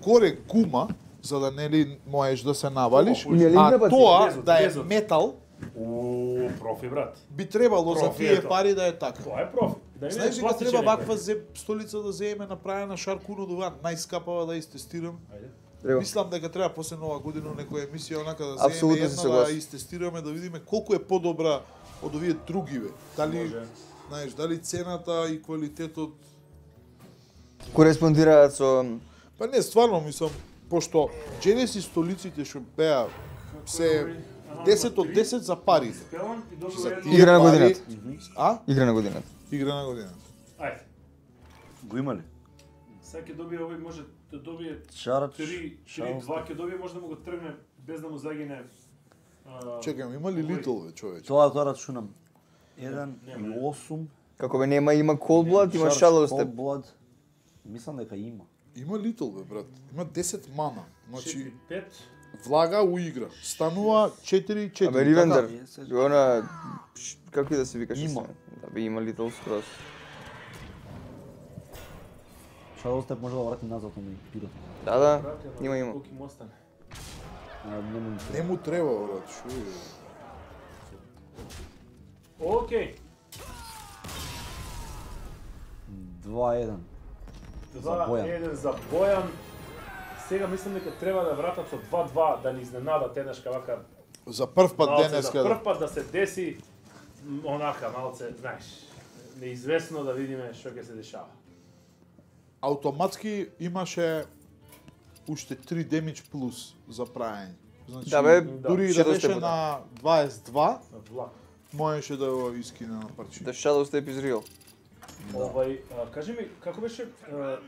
горе гума, за да нели можеш да се навалиш, Ми е линк а да баци, тоа безот, да е безот. метал, О, профи брат. би требало за Профи, тие ето. пари да е така. Тоа е профи. Да не Знаеш е дека пластичен треба некој. ваква зе- столица да земе направена шаркунот ова најскапава да истестирам. Ајде. Треба. Мислам дека треба после нова година некоја емисија онака да Апсолутно земеме се една да согласен. истестираме да видиме колку е подобра од овие другиве. Дали Може. знаеш, дали цената и квалитетот. Кореспондираат со Па не, стварно мислам, пошто Genesis столиците што беа се десет од десет за парите. Спелам и добро За едно. тие Игра на пари- годината. А? игра на годината. Игра на годината. Ајде. Го има ли? Сега ќе добие овој може да добие Шарач, три три шалост. два ќе добие може да му го тргне без да му загине. а, Чекам, има ли Литл ве, човече? Тоа тоа рачунам. еден Нема. и осум. Како бе нема има Cold Blood, има Shadow Step. Blood. Мислам дека има. Има Литл ве, брат. Има десет мана. Значи, четири пет. влага у игра. Станува четири четири. Абе Ривендер, Така, е, се- она ш- како и да се викаше Има. се. Да бе има Little Scrolls. Shadow Step може да врати назад на пирот. Да, да, Брате, ама има има. колку им остане. Не му Не му треба, брат. Шо е? Океј. два еден. За Бојан. два еден за Бојан. Сега мислам дека треба да вратат со два два да ни изненадат еднашка вака. За прв пат малце денеска. за да. прв пат да се деси м, онака малце, знаеш, неизвестно да видиме што ќе се дешава. Автоматски имаше уште три демидж плюс за прајање. Значи, Да, бе, дури и ще да беше достигне. на дваесет и два, На влак. можеше да го искине на парче. The Shadow Step is real. Овај, а, кажи ми, како беше а,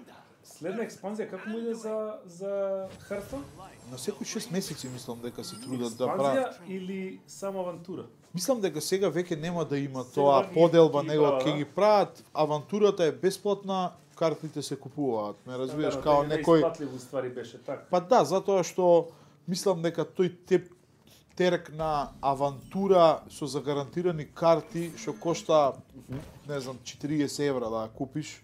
следна експанзија, како му иде за за Хартон? На секој шест месеци мислам дека се трудат да Експанзија прават. или само авантура? Мислам дека сега веќе нема да има Сега тоа ги- поделба, ги него прават, ќе да? ги прават, авантурата е бесплатна, картите се купуваат. Ме разбираш, као некој. Неисплатливо ствари беше така. Па да, затоа што мислам дека тој теп терек на авантура со загарантирани карти што кошта не знам четириесет евра да ја купиш,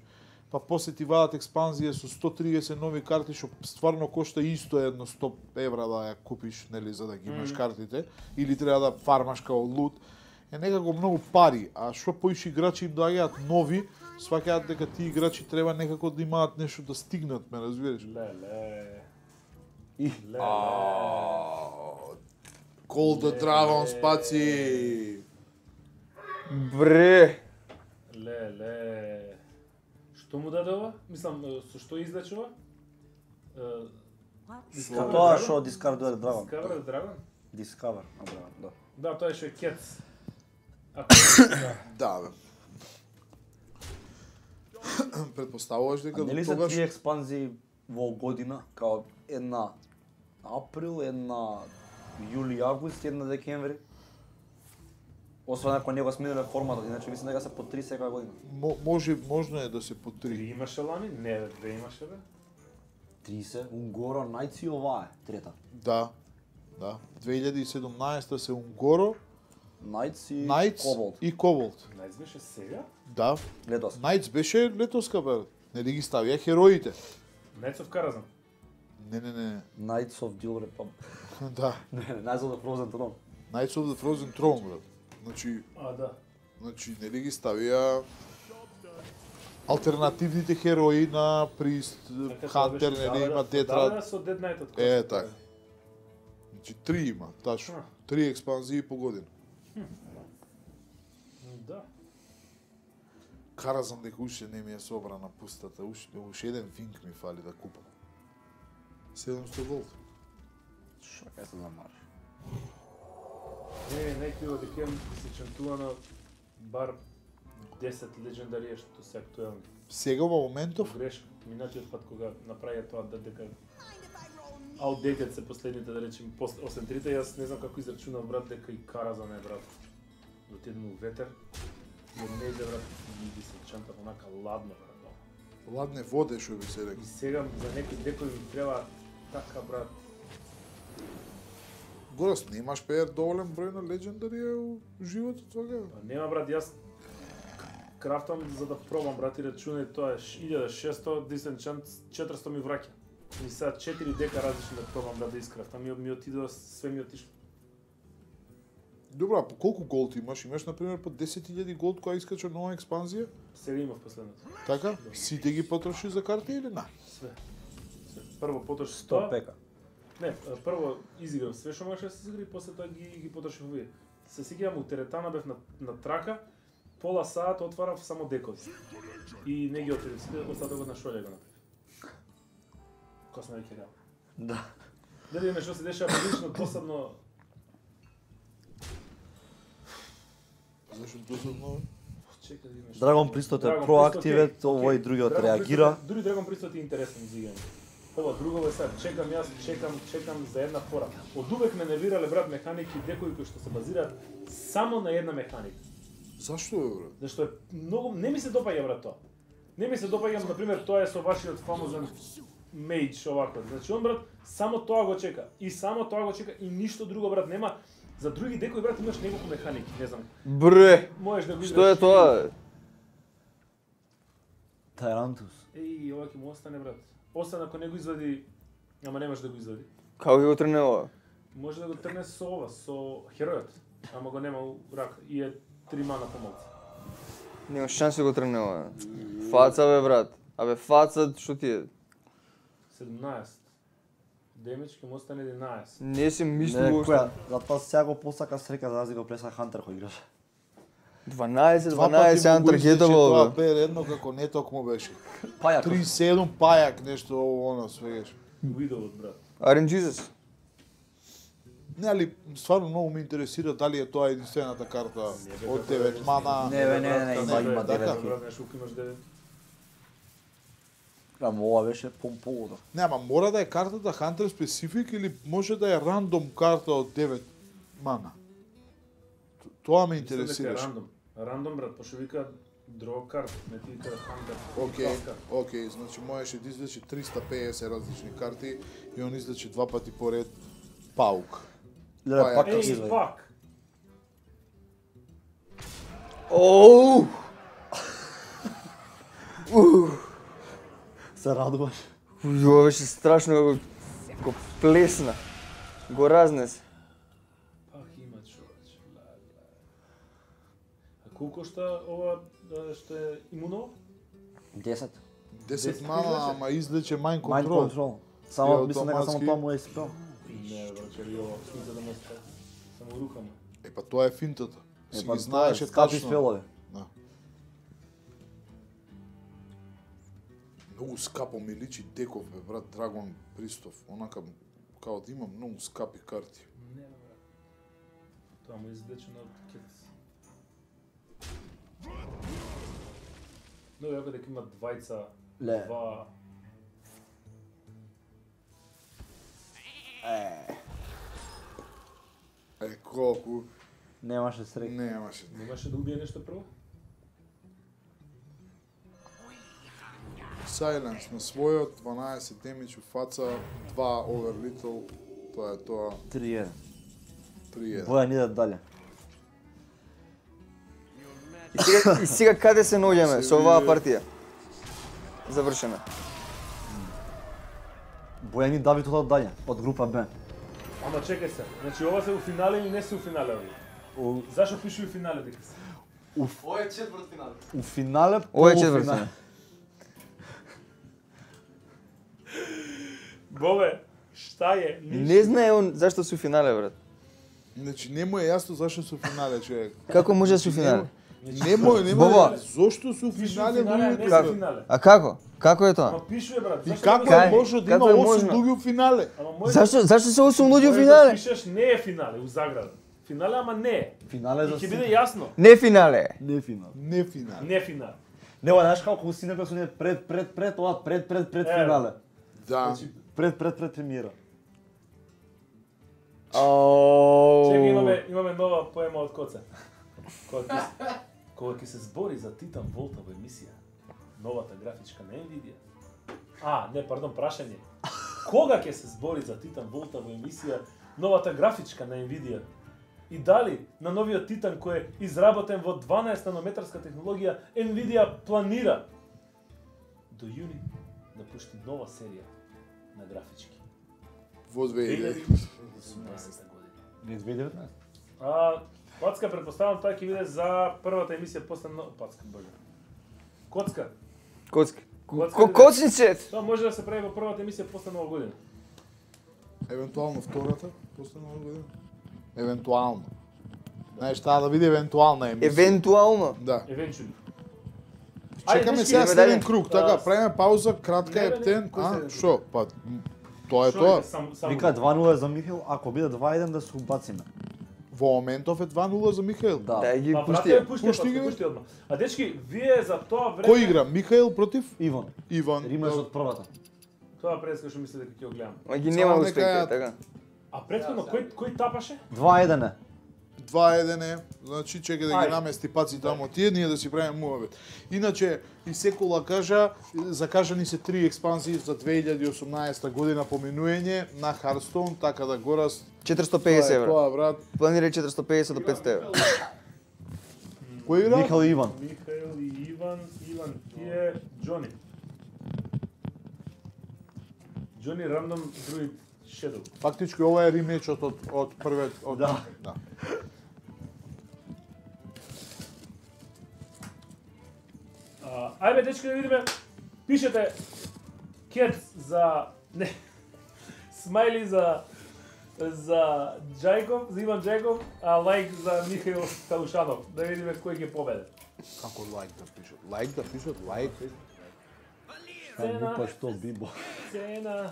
па после ти вадат експанзија со сто триесет нови карти што стварно кошта исто едно сто евра да ја купиш, нели, за да ги имаш Мгм. картите, или треба да фармаш као лут. Е некако многу пари, а што поише играчи им доаѓаат нови, сваќаат дека тие играчи треба некако да имаат нешто да стигнат, ме разбираш? Леле. И Леле. Call the Dragon спаци! Бре. Леле. Што му даде ова? Мислам, е, со што излече ова? Е, Со тоа што Discover Dragon. Discover Dragon? Discover Dragon, да. Да, тоа е што е Кец. Ако да. Да, бе. Предпоставуваш А дека нели до се тогаш три експанзии во година, као една април, една јули, август, една декември? Освен ако не го смениле форматот, иначе мислам дека се по три секоја година. мо- може можно е да се по Три три. имаше лани? Не, бе, две имаше, бе. три се, Унгоро, Најци, ова е, трета. Да. Да. две илјади и седумнаесета се Унгоро, Најци, Најц Коболт. и Коболт. Најс беше сега? Да. Летос. Најц беше летоска, бе. Нели ги ставија хероите. Knights of Karazhan. Не, не, не. Knights of the Old Republic. Да. Не, не, Knights of the Frozen Throne. Knights of the Frozen Throne, брат. Значи, А, да. значи нели ги ставија алтернативните херои на Прист, Така, тоа Хантер, беше нели има дадена- Детра. дадена со Dead Knight-от. Е, така. Значи три има, тачно. А. Три експанзии по година. Да. Каразан дека уште не ми е собрана пустата, уште уште еден винк ми фали да купам. седумсто голд. Шо кај се замараш? Не, најкриво дека имам се чантува на бар десет легендарија што се актуелни. Сега во моментов Грешка. Минатиот пат кога направија тоа да дека outdated се последните, да речем, после осем трите, јас не знам како израчунав, брат, дека и Каразан е, брат. Отидем у ветер, и од нејде, брат, и ги се чанта онака ладно, брат. ладне воде, што би се рекол. И сега за некои декои ми треба така, брат. Горас, немаш пеер доволен број на легендарија у животот тога? Па нема, брат, јас крафтам за да пробам, брат, и рачунај тоа е илјада и шесто, диsenchant четиристо ми враќа. И сега четири дека различни да пробам, брат, да искрафтам, ми, ми отидува, све ми отишло. Добра, по колку голд имаш? Имаш, например, по десет илјади голд која искача нова експанзија? Сега имав последното. Така? Сите ги потроши за карти или на? Све. Све. Прво потроши сто тоа. пека. Не, прво изиграв све што можеше да се изигра и после тоа ги ги потрошив овие. Се сеќавам у теретана бев на на трака, пола саат отварав само декови. И не ги отидов сите, остатокот на шолја го направив. Косно веќе реално. Да. Да видиме што се дешава прилично досадно. Зашто досадно? Чекај да видиме што. Dragon Priestот е Dragon проактивен, Priest, окей, овој окей. другиот Dragon реагира. Priest е- Дури Dragon Priestот е интересен за играње. Ова друго е сега, чекам јас, чекам, чекам за една фора. Од увек ме нервирале, брат, механики декои кои што се базираат само на една механика. Зашто бе, брат? Зашто е многу не ми се допаѓа, брат, тоа. Не ми се допаѓа, на пример, тоа е со вашиот фамозен мејдж овако. Значи он, брат, само тоа го чека и само тоа го чека и ништо друго, брат, нема. За други декои, брат, имаш неколку механики, не знам. Бре, Можеш да го што е играш. тоа? Тайрантус. Еј, ова ќе му остане, брат. Освен ако не го извади, ама немаш да го извади. Како ги го трне ова? Може да го трне со ова, со херојот, ама го нема у рака и е три мана помалку. Немаш шанси да го трне ова. Фаца бе брат. Абе фаца што ти е? седумнаесет. Демидж ќе му остане единаесет. Не си мислил Не, уште. која, затоа сега го посака срека за разлика од Преса Хантер кој играш. дванаесет, Два дванаесет пати му го антаргетово излече бе. тоа пе едно како не токму беше. Пајак. три седум пајак нешто ово оно свегаш. Видовот, брат. Ар ен Jesus. Не, али стварно многу ме интересира дали е тоа единствената карта од девет мана. Не, бе, не, не, не, Брат, има, така, има така, девет. брат, знаеш колку имаш девет? Ама ова беше помполуда. Не, ама мора да е картата Hunter Specific или може да е рандом карта од девет мана? Т- Тоа ме Мислам дека е интересираше. рандом. Рандом, брат, пошто вика draw card, не ти вика хантер. Океј, океј, значи можеше да излече триста пеесет различни карти и он излече два пати поред паук. Леле, Пајак. пак Ей, извади. фак! Оу! Се радуваш. Ова беше страшно како го плесна. Го разнесе. Пак има човече. ла, ла. А колку кошта ова а, што е имуново? десет. десет Десет мана, излече? ама излече Mind Mind Control. Control. И Само мислам дека само автоматски- тоа му е спел. Не, брат, че ова смисла да ме ста. Само рукама. Е, па тоа е финтата. Си па ги знаеше скапи тачно. спелови. Да. Многу скапо ми личи деков, бе, брат, Драгон Пристов. Онака, као да има многу скапи карти. Не, брат. Тоа му излечено од кец. Но јако дека има двајца, Ле. два... Е, Е, колку... немаше срек. Немаше. Немаше да убие нешто прво? Silence на својот, дванаесет демидж у фаца, два over little, тоа е тоа, три еден. три еден. Бојан иде дале. И сега, и сега каде се наоѓаме Се со оваа види. партија? Завршена. Бојани Давид од далje, од група Б. Ама чекај се. Значи ова се у финале или не се у финале овие? У, Зашо пише у финале дека се? Ова е четврт финал. у финале, Ова е полуфинале. четвртфинале. Бобе, шта е? Ништо. Не знае он зашто су финале, брат. Значи не му е јасно зашто су финале, човек. Како може да су финале? Не му е, не му Баба. е. Зошто су Пише у финале финале, а не луѓето? се финале. А како? Како е тоа? Ама пишува брат. И Зашто како да е го- може да Како има е осум можно? луѓе у финале? Ама може Зашто зашто се осум луѓе у можеш финале? Да пишеш не е финале у заграда. Финале ама не е. Финале И за ќе сите. биде јасно. Не финале. Не финал. Не финале. Не финале. Не, ова знаеш како си некој се пред пред пред ова пред пред пред Е. финале. Да. Пред пред пред премиера. Чека, имаме имаме нова поема од Коца. Кога ќе се- кога ќе се збори за Титан Волта во емисија, новата графичка на Nvidia. А, не, пардон, прашање. Кога ќе се збори за Титан Волта во емисија, новата графичка на Nvidia? И дали на новиот Титан кој е изработен во дванаесет нанометарска технологија, Nvidia планира до јуни да пушти нова серија на графички. Во две две илјади. илјади и осумнаесета година. Не две илјади и деветнаесета. А, Пацка, предпоставам тоа ќе биде за првата емисија после но... Пацка, боже. Коцка. Коцка. Коцка Ко биде- коцницет. Тоа може да се прави во првата емисија после нова година. Евентуално втората, после нова година. Евентуално. Знаеш, таа да биде евентуална емисија. Евентуално. Да. Евенчули. Чекаме дечки, сега идеме следен дале. круг, така, А, правиме пауза, кратка не, е не, не, птен, кој а, следен шо, па, м, тоа е Шо тоа. е, сам- само- Вика два нула за Михаил, ако биде два еден да се убациме. Во моментов е два нула за Михаил. Да. Да ги Па, пушти. брате, пушти, Пушти пушти, ги, бе. пушти одма. А дечки, вие за тоа време... Кој игра? Михаил против Иван. Иван. Римаш од првата. Тоа предска што мисле дека ќе го гледам. Ма ги Само нема нека успех, ја- така. А претходно кој кој тапаше? два еден е. два еден е, значи чека да ги Ајде. намести паци тамо тие, ние да си правиме муавет. Иначе, и секола кажа, закажани се три експанзии за две илјади и осумнаесета година поминување на Hearthstone, така да горас четиристотини и тоа педесет е евра. тоа, брат. Планира четиристотини и педесет до петстотини евра. Кој игра? Михаил и Иван. Михаил и Иван, Иван тие, Џони. Џони Random Druid Shadow. Фактички ова е ремечот од од првиот од Да. да. А, ајде дечки да видиме. Пишете кет за не смајли за за Джајков, за Иван Джајков, а лайк за Михаил Талушанов. Да видиме кој ќе победе. Како лайк да пишат? Лайк да пишат, лайк. Цена. Па што бибо. Цена.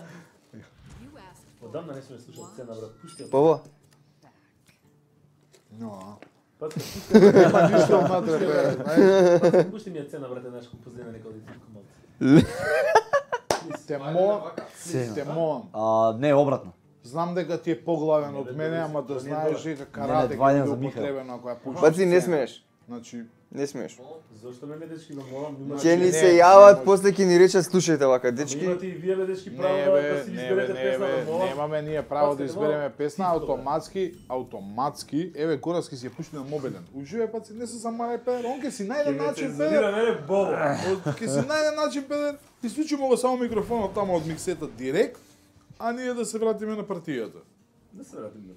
Одамна не сме слушали цена, брат. Пушти ја. Пово. Но, Пацка, пушти ја. нема ништо внатре, бе. знаеш. Пушти ми ја цена, брате, знаеш, колку позна нека оди тука малку. Те мон, те мон. А, не, обратно. Знам дека ти е поглавен од мене, ама да знаеш дека карате два ќе еден биде за Михаил. употребено ако ја пушиш. Баци, не смееш. Значи, Не смееш. Зошто ме дечки да молам, имате Ќе ни не, се не јават, може. после ќе ни речат слушајте вака дечки. Имате и вие бе дечки право не да, бе, да си не бе, изберете не песна бе, да молам. немаме ние право да Паците, избереме молам, песна, тихо, бе. автоматски, автоматски, еве Гораски си ја пушти на мобилен. Уживе паци, не се замарај педер, он ке си најде Ќе ме начин цензурира педер. мене Бобо. Ке си најде начин педер, исклучимо го само микрофонот тамо од миксета директ, а ние да се вратиме на партијата. Да се вратим на.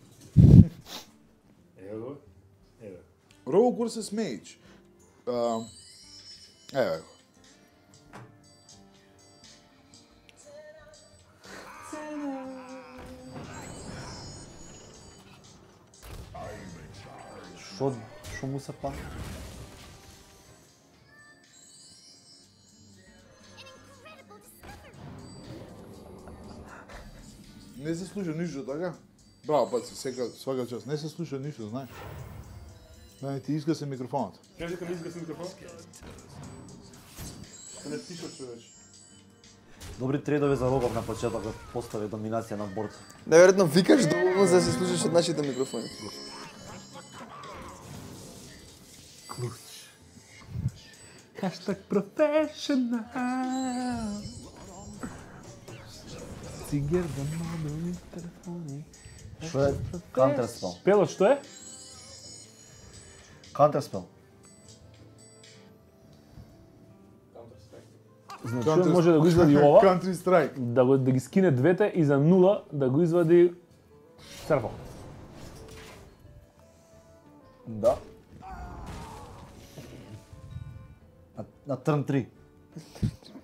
Ево го. Еве. Rogue versus Mage. Uh, еве го. Што што му се па? Не се слуша ништо, така? Браво, паци, сека, свака час. Не се слуша ништо, знаеш. Да не ти изгаси микрофонот. Кажи кога изгаси микрофон. Не тишот човече. Добри трейдови за Рогов на почеток да постави доминација на борд. Наверојатно викаш доволно за да се слушаш од нашите микрофони. Хаштаг професионал. Цигер да мобилни телефони. Што е Counterspell? Пело, што е? Counterspell. Значи Counter- може да го извади ова, Country Strike. да го да ги скине двете и за нула да го извади Starfall. Да. На, на трн три.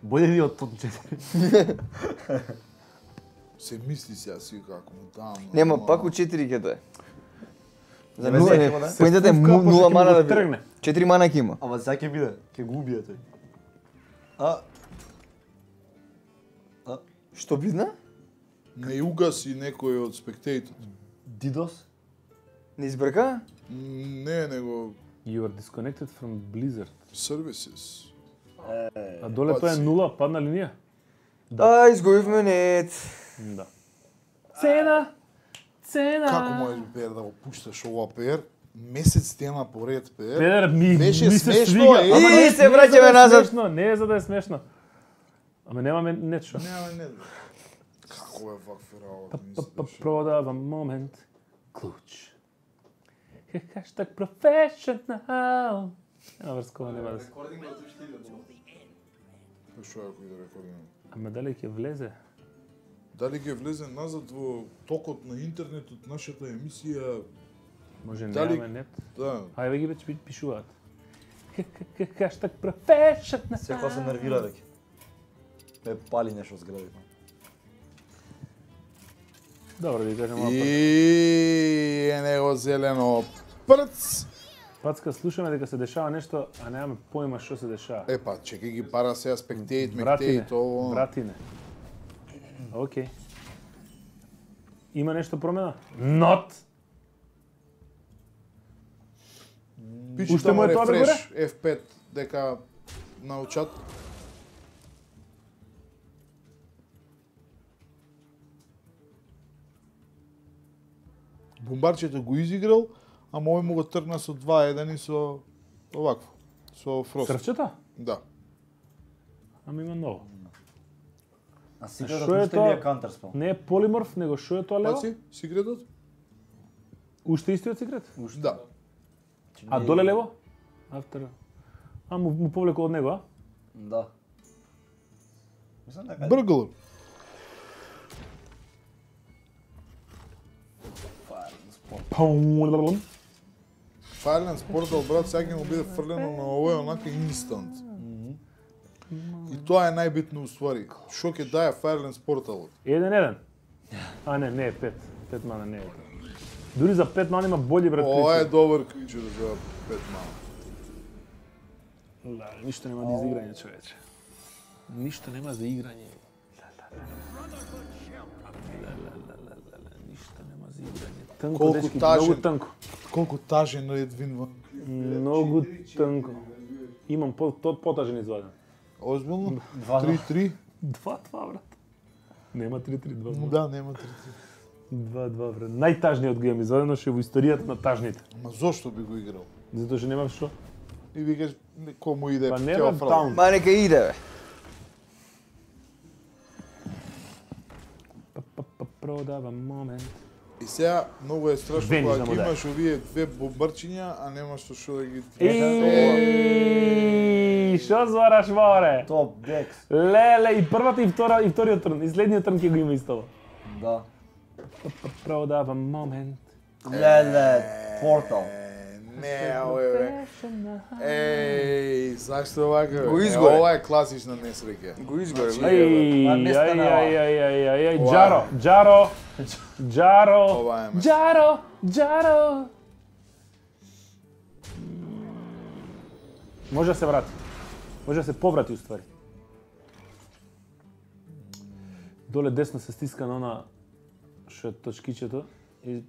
Бојде ви од турн четири. Се мисли сега си како му дам. Нема, пак у четири ќе дое. За Не нула, веќе не, ќе му да? поентата е Се впука, му- после нула ќе мана му да го биде. тргне. четири мана ќе има. Ама сега ќе биде, ќе го убие тој. А, Што бидна? Не угаси некој од спектейтот. Дидос? Не избрка? Не, него You are disconnected from Blizzard. services. А доле тоа е Паци. нула, падна линија? Да, изгубивме нет. Да. Цена! Цена! Како можеш Пер да го пушташ ова Пер? Месец тема поред Пер. Педер, ми, Беше ми се смешно, свига. е. Ама И не- се не е враќаме за да е назад. смешно, Не е за да е смешно. Ама немаме нечо. Нема не. Како е ваква работа? ми се Па дешава. продавам момент. Клуч. Хаштаг професионал. Нема врскова, нема да се. Рекординг од уште иде. Па Што ако и да рекордирам? Ама дали ќе влезе? Дали ќе влезе назад во токот на интернетот нашата емисија? Може Дали- немаме нет. Да. Хајде ги веќе пишуваат. Хаштаг професионал. Секој се нервира веќе. Ме пали нешто зградите. Добро, да кажем ова. И е него зелено прц. Пацка, слушаме дека се дешава нешто, а немаме појма што се дешава. Епа, чекај ги пара сега спектейт, Братине, мектейт, ово. братине. Океј. Има нешто промена? Not! Пичи Уште му е тамо тоа да рефреш, F пет, дека научат. Бомбарчето го изиграл, ама овој му го тргна со два еден и со овакво, со Фрост. Срвчето? Да. Ама има ново. А што секојот е уште тоа? ли е Counterspell? Не е полиморф, него што е тоа лево? Паци, секретот? Уште истиот секрет? Да. А доле лево? Автор. А му, му повлеко од него, а? Да. Мислам дека Бргл. Паум. Firelands Portal, брат, сега ќе му биде фрлено на овој онака инстант. И тоа е најбитно уствари. Што ќе дае Firelands Portalот? Еден еден. А не, не е пет. Пет мана не е. Дури за пет мана има бољи брат. Ова е кричер. добар кричер за пет мала. Да, ништо нема за изиграње, човече. Ништо нема за играње. Ништо нема за играње. Тнко, Колку дечки, тажен. многу тнко. Колку тажен Редвин во... Многу тнко. Имам по, то, потажен изваден. Озбилно? Два, три три? Два-два, брат. Нема три-три, два-два. Да, нема три три. Два-два, брат. Најтажниот го имам извадено, што е во историјата на тажните. Ама зошто би го играл? Затоа што нема што. И викаш, кому иде, Па ќе нема го фрла. таун. Ма нека иде, бе. Продавам момент. И сега многу е страшно Вениш кога да му ги даде. имаш овие две бомбарчиња, а немаш што што да ги... Еј, што звараш море? топ декс. Леле, и првата и втора и вториот трн, и следниот трн ќе го има исто. Да. Продавам момент. Леле, Portal. Е, Не, овој бе. Еј, зашто вака? Го Е, изгоре. Ова е класична несреќа. Го изгоре. Значи, го. Ај, Ма ај, не ај, стана ај, ај, ај, ај, Ова е. Джаро, Джаро, Джаро, Ова е ме. Джаро, Джаро. Може да се врати. Може да се поврати уствари. Доле десно се стиска на она што е точкичето и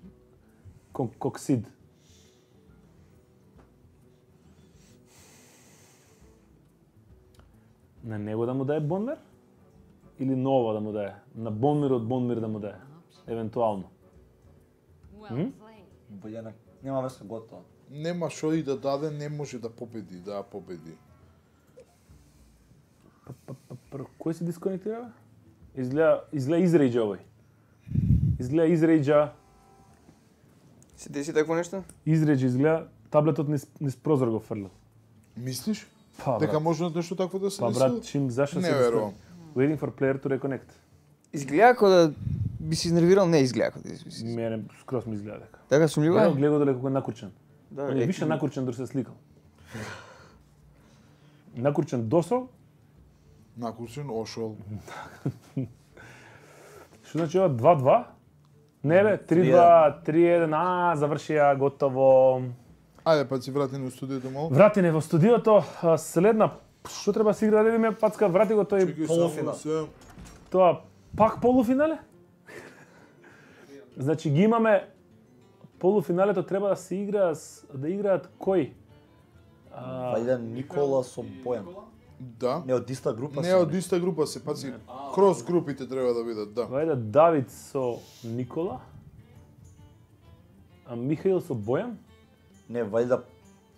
кок- коксид. На него да му даде Бонмир? Или нова да му даде? На Бонмир од Бонмир да му даде? Евентуално. Well played. Бојана, нема врска готово. Нема што и да даде, не може да победи, да ја победи. Прво, кој се дисконектира, бе? Изгледа, изгледа изрејджа овој. Изгледа изрејджа, Се деси такво нешто? изрејджа, изгледа таблетот низ, низ прозор го фрлил. Мислиш? Па, Дека брат, може нешто такво да се па деси? брат, чим зашто Не се верувам. Waiting for player to reconnect. Изгледа како да би се изнервирал, не изгледа како да би се. Мене скроз ми изгледа дека. Така сумљиво Гледа, е? гледа далеко како накурчен. Да, Он е више накурчен дори се сликал. Накурчен досол, Накурчен, ошол. што значи ова два-два? Не бе, три-два, три-еден, а, завршија, готово. Ајде, па си врати на студиото мало. Врати не во студиото, а, следна, што треба се игра, да видиме, Пацка, врати го тој, Чекај полуфинал. само да се- тоа, пак полуфинале? Значи ги имаме, полуфиналето треба да се игра, с- да играат кој? А, Вајде Никола со Бојан. Да. Не од иста група Не се. од иста група се, паци, крос групите треба да бидат, да. Вајде Давид со Никола, а Михаил со Бојан, Не, вајде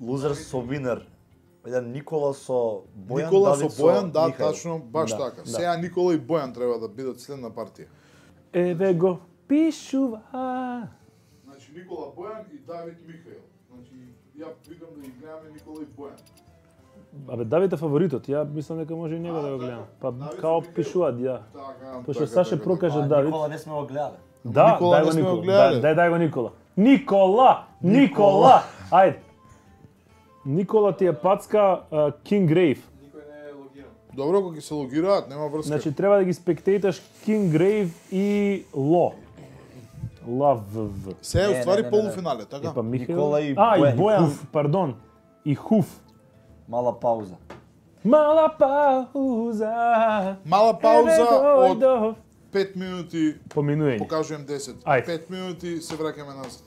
лузер со винер. Вајде Никола со Бојан, Никола со Давид Бојан, да, Михаил. тачно, баш Да, така. да. Сега Никола и Бојан треба да бидат следна партија. еве го пишува. Значи Никола Бојан и Давид Михаил. Значи ја викам да ги гледаме Никола и Бојан. Абе, Давид е фаворитот, ја мислам дека може и него да го гледам. Па Давид као со пишуваат, ја. Така, Пошто Саше прокаже А, Давид. Никола не сме го гледале. Да, Никола дај не го сме го Никола. гледале. Дај, дај, дај го Никола. Никола! Никола! Ајде. Никола ти е Пацка uh, King Grave. Никој не е логиран. Добро, кога ќе се логираат, нема врска. Значи треба да ги спектейташ King Grave и Ло. Лав В. се е Не, не, уствари не, не, полуфинале, И така? па Михаил. Никола и а, Бојан, и и Бојан, Хуф. пардон. И Хуф. Мала пауза. Мала пауза. Мала пауза Еве од дојдов. пет минути, Поминуење. покажувам десет. Ајде. пет минути се враќаме назад.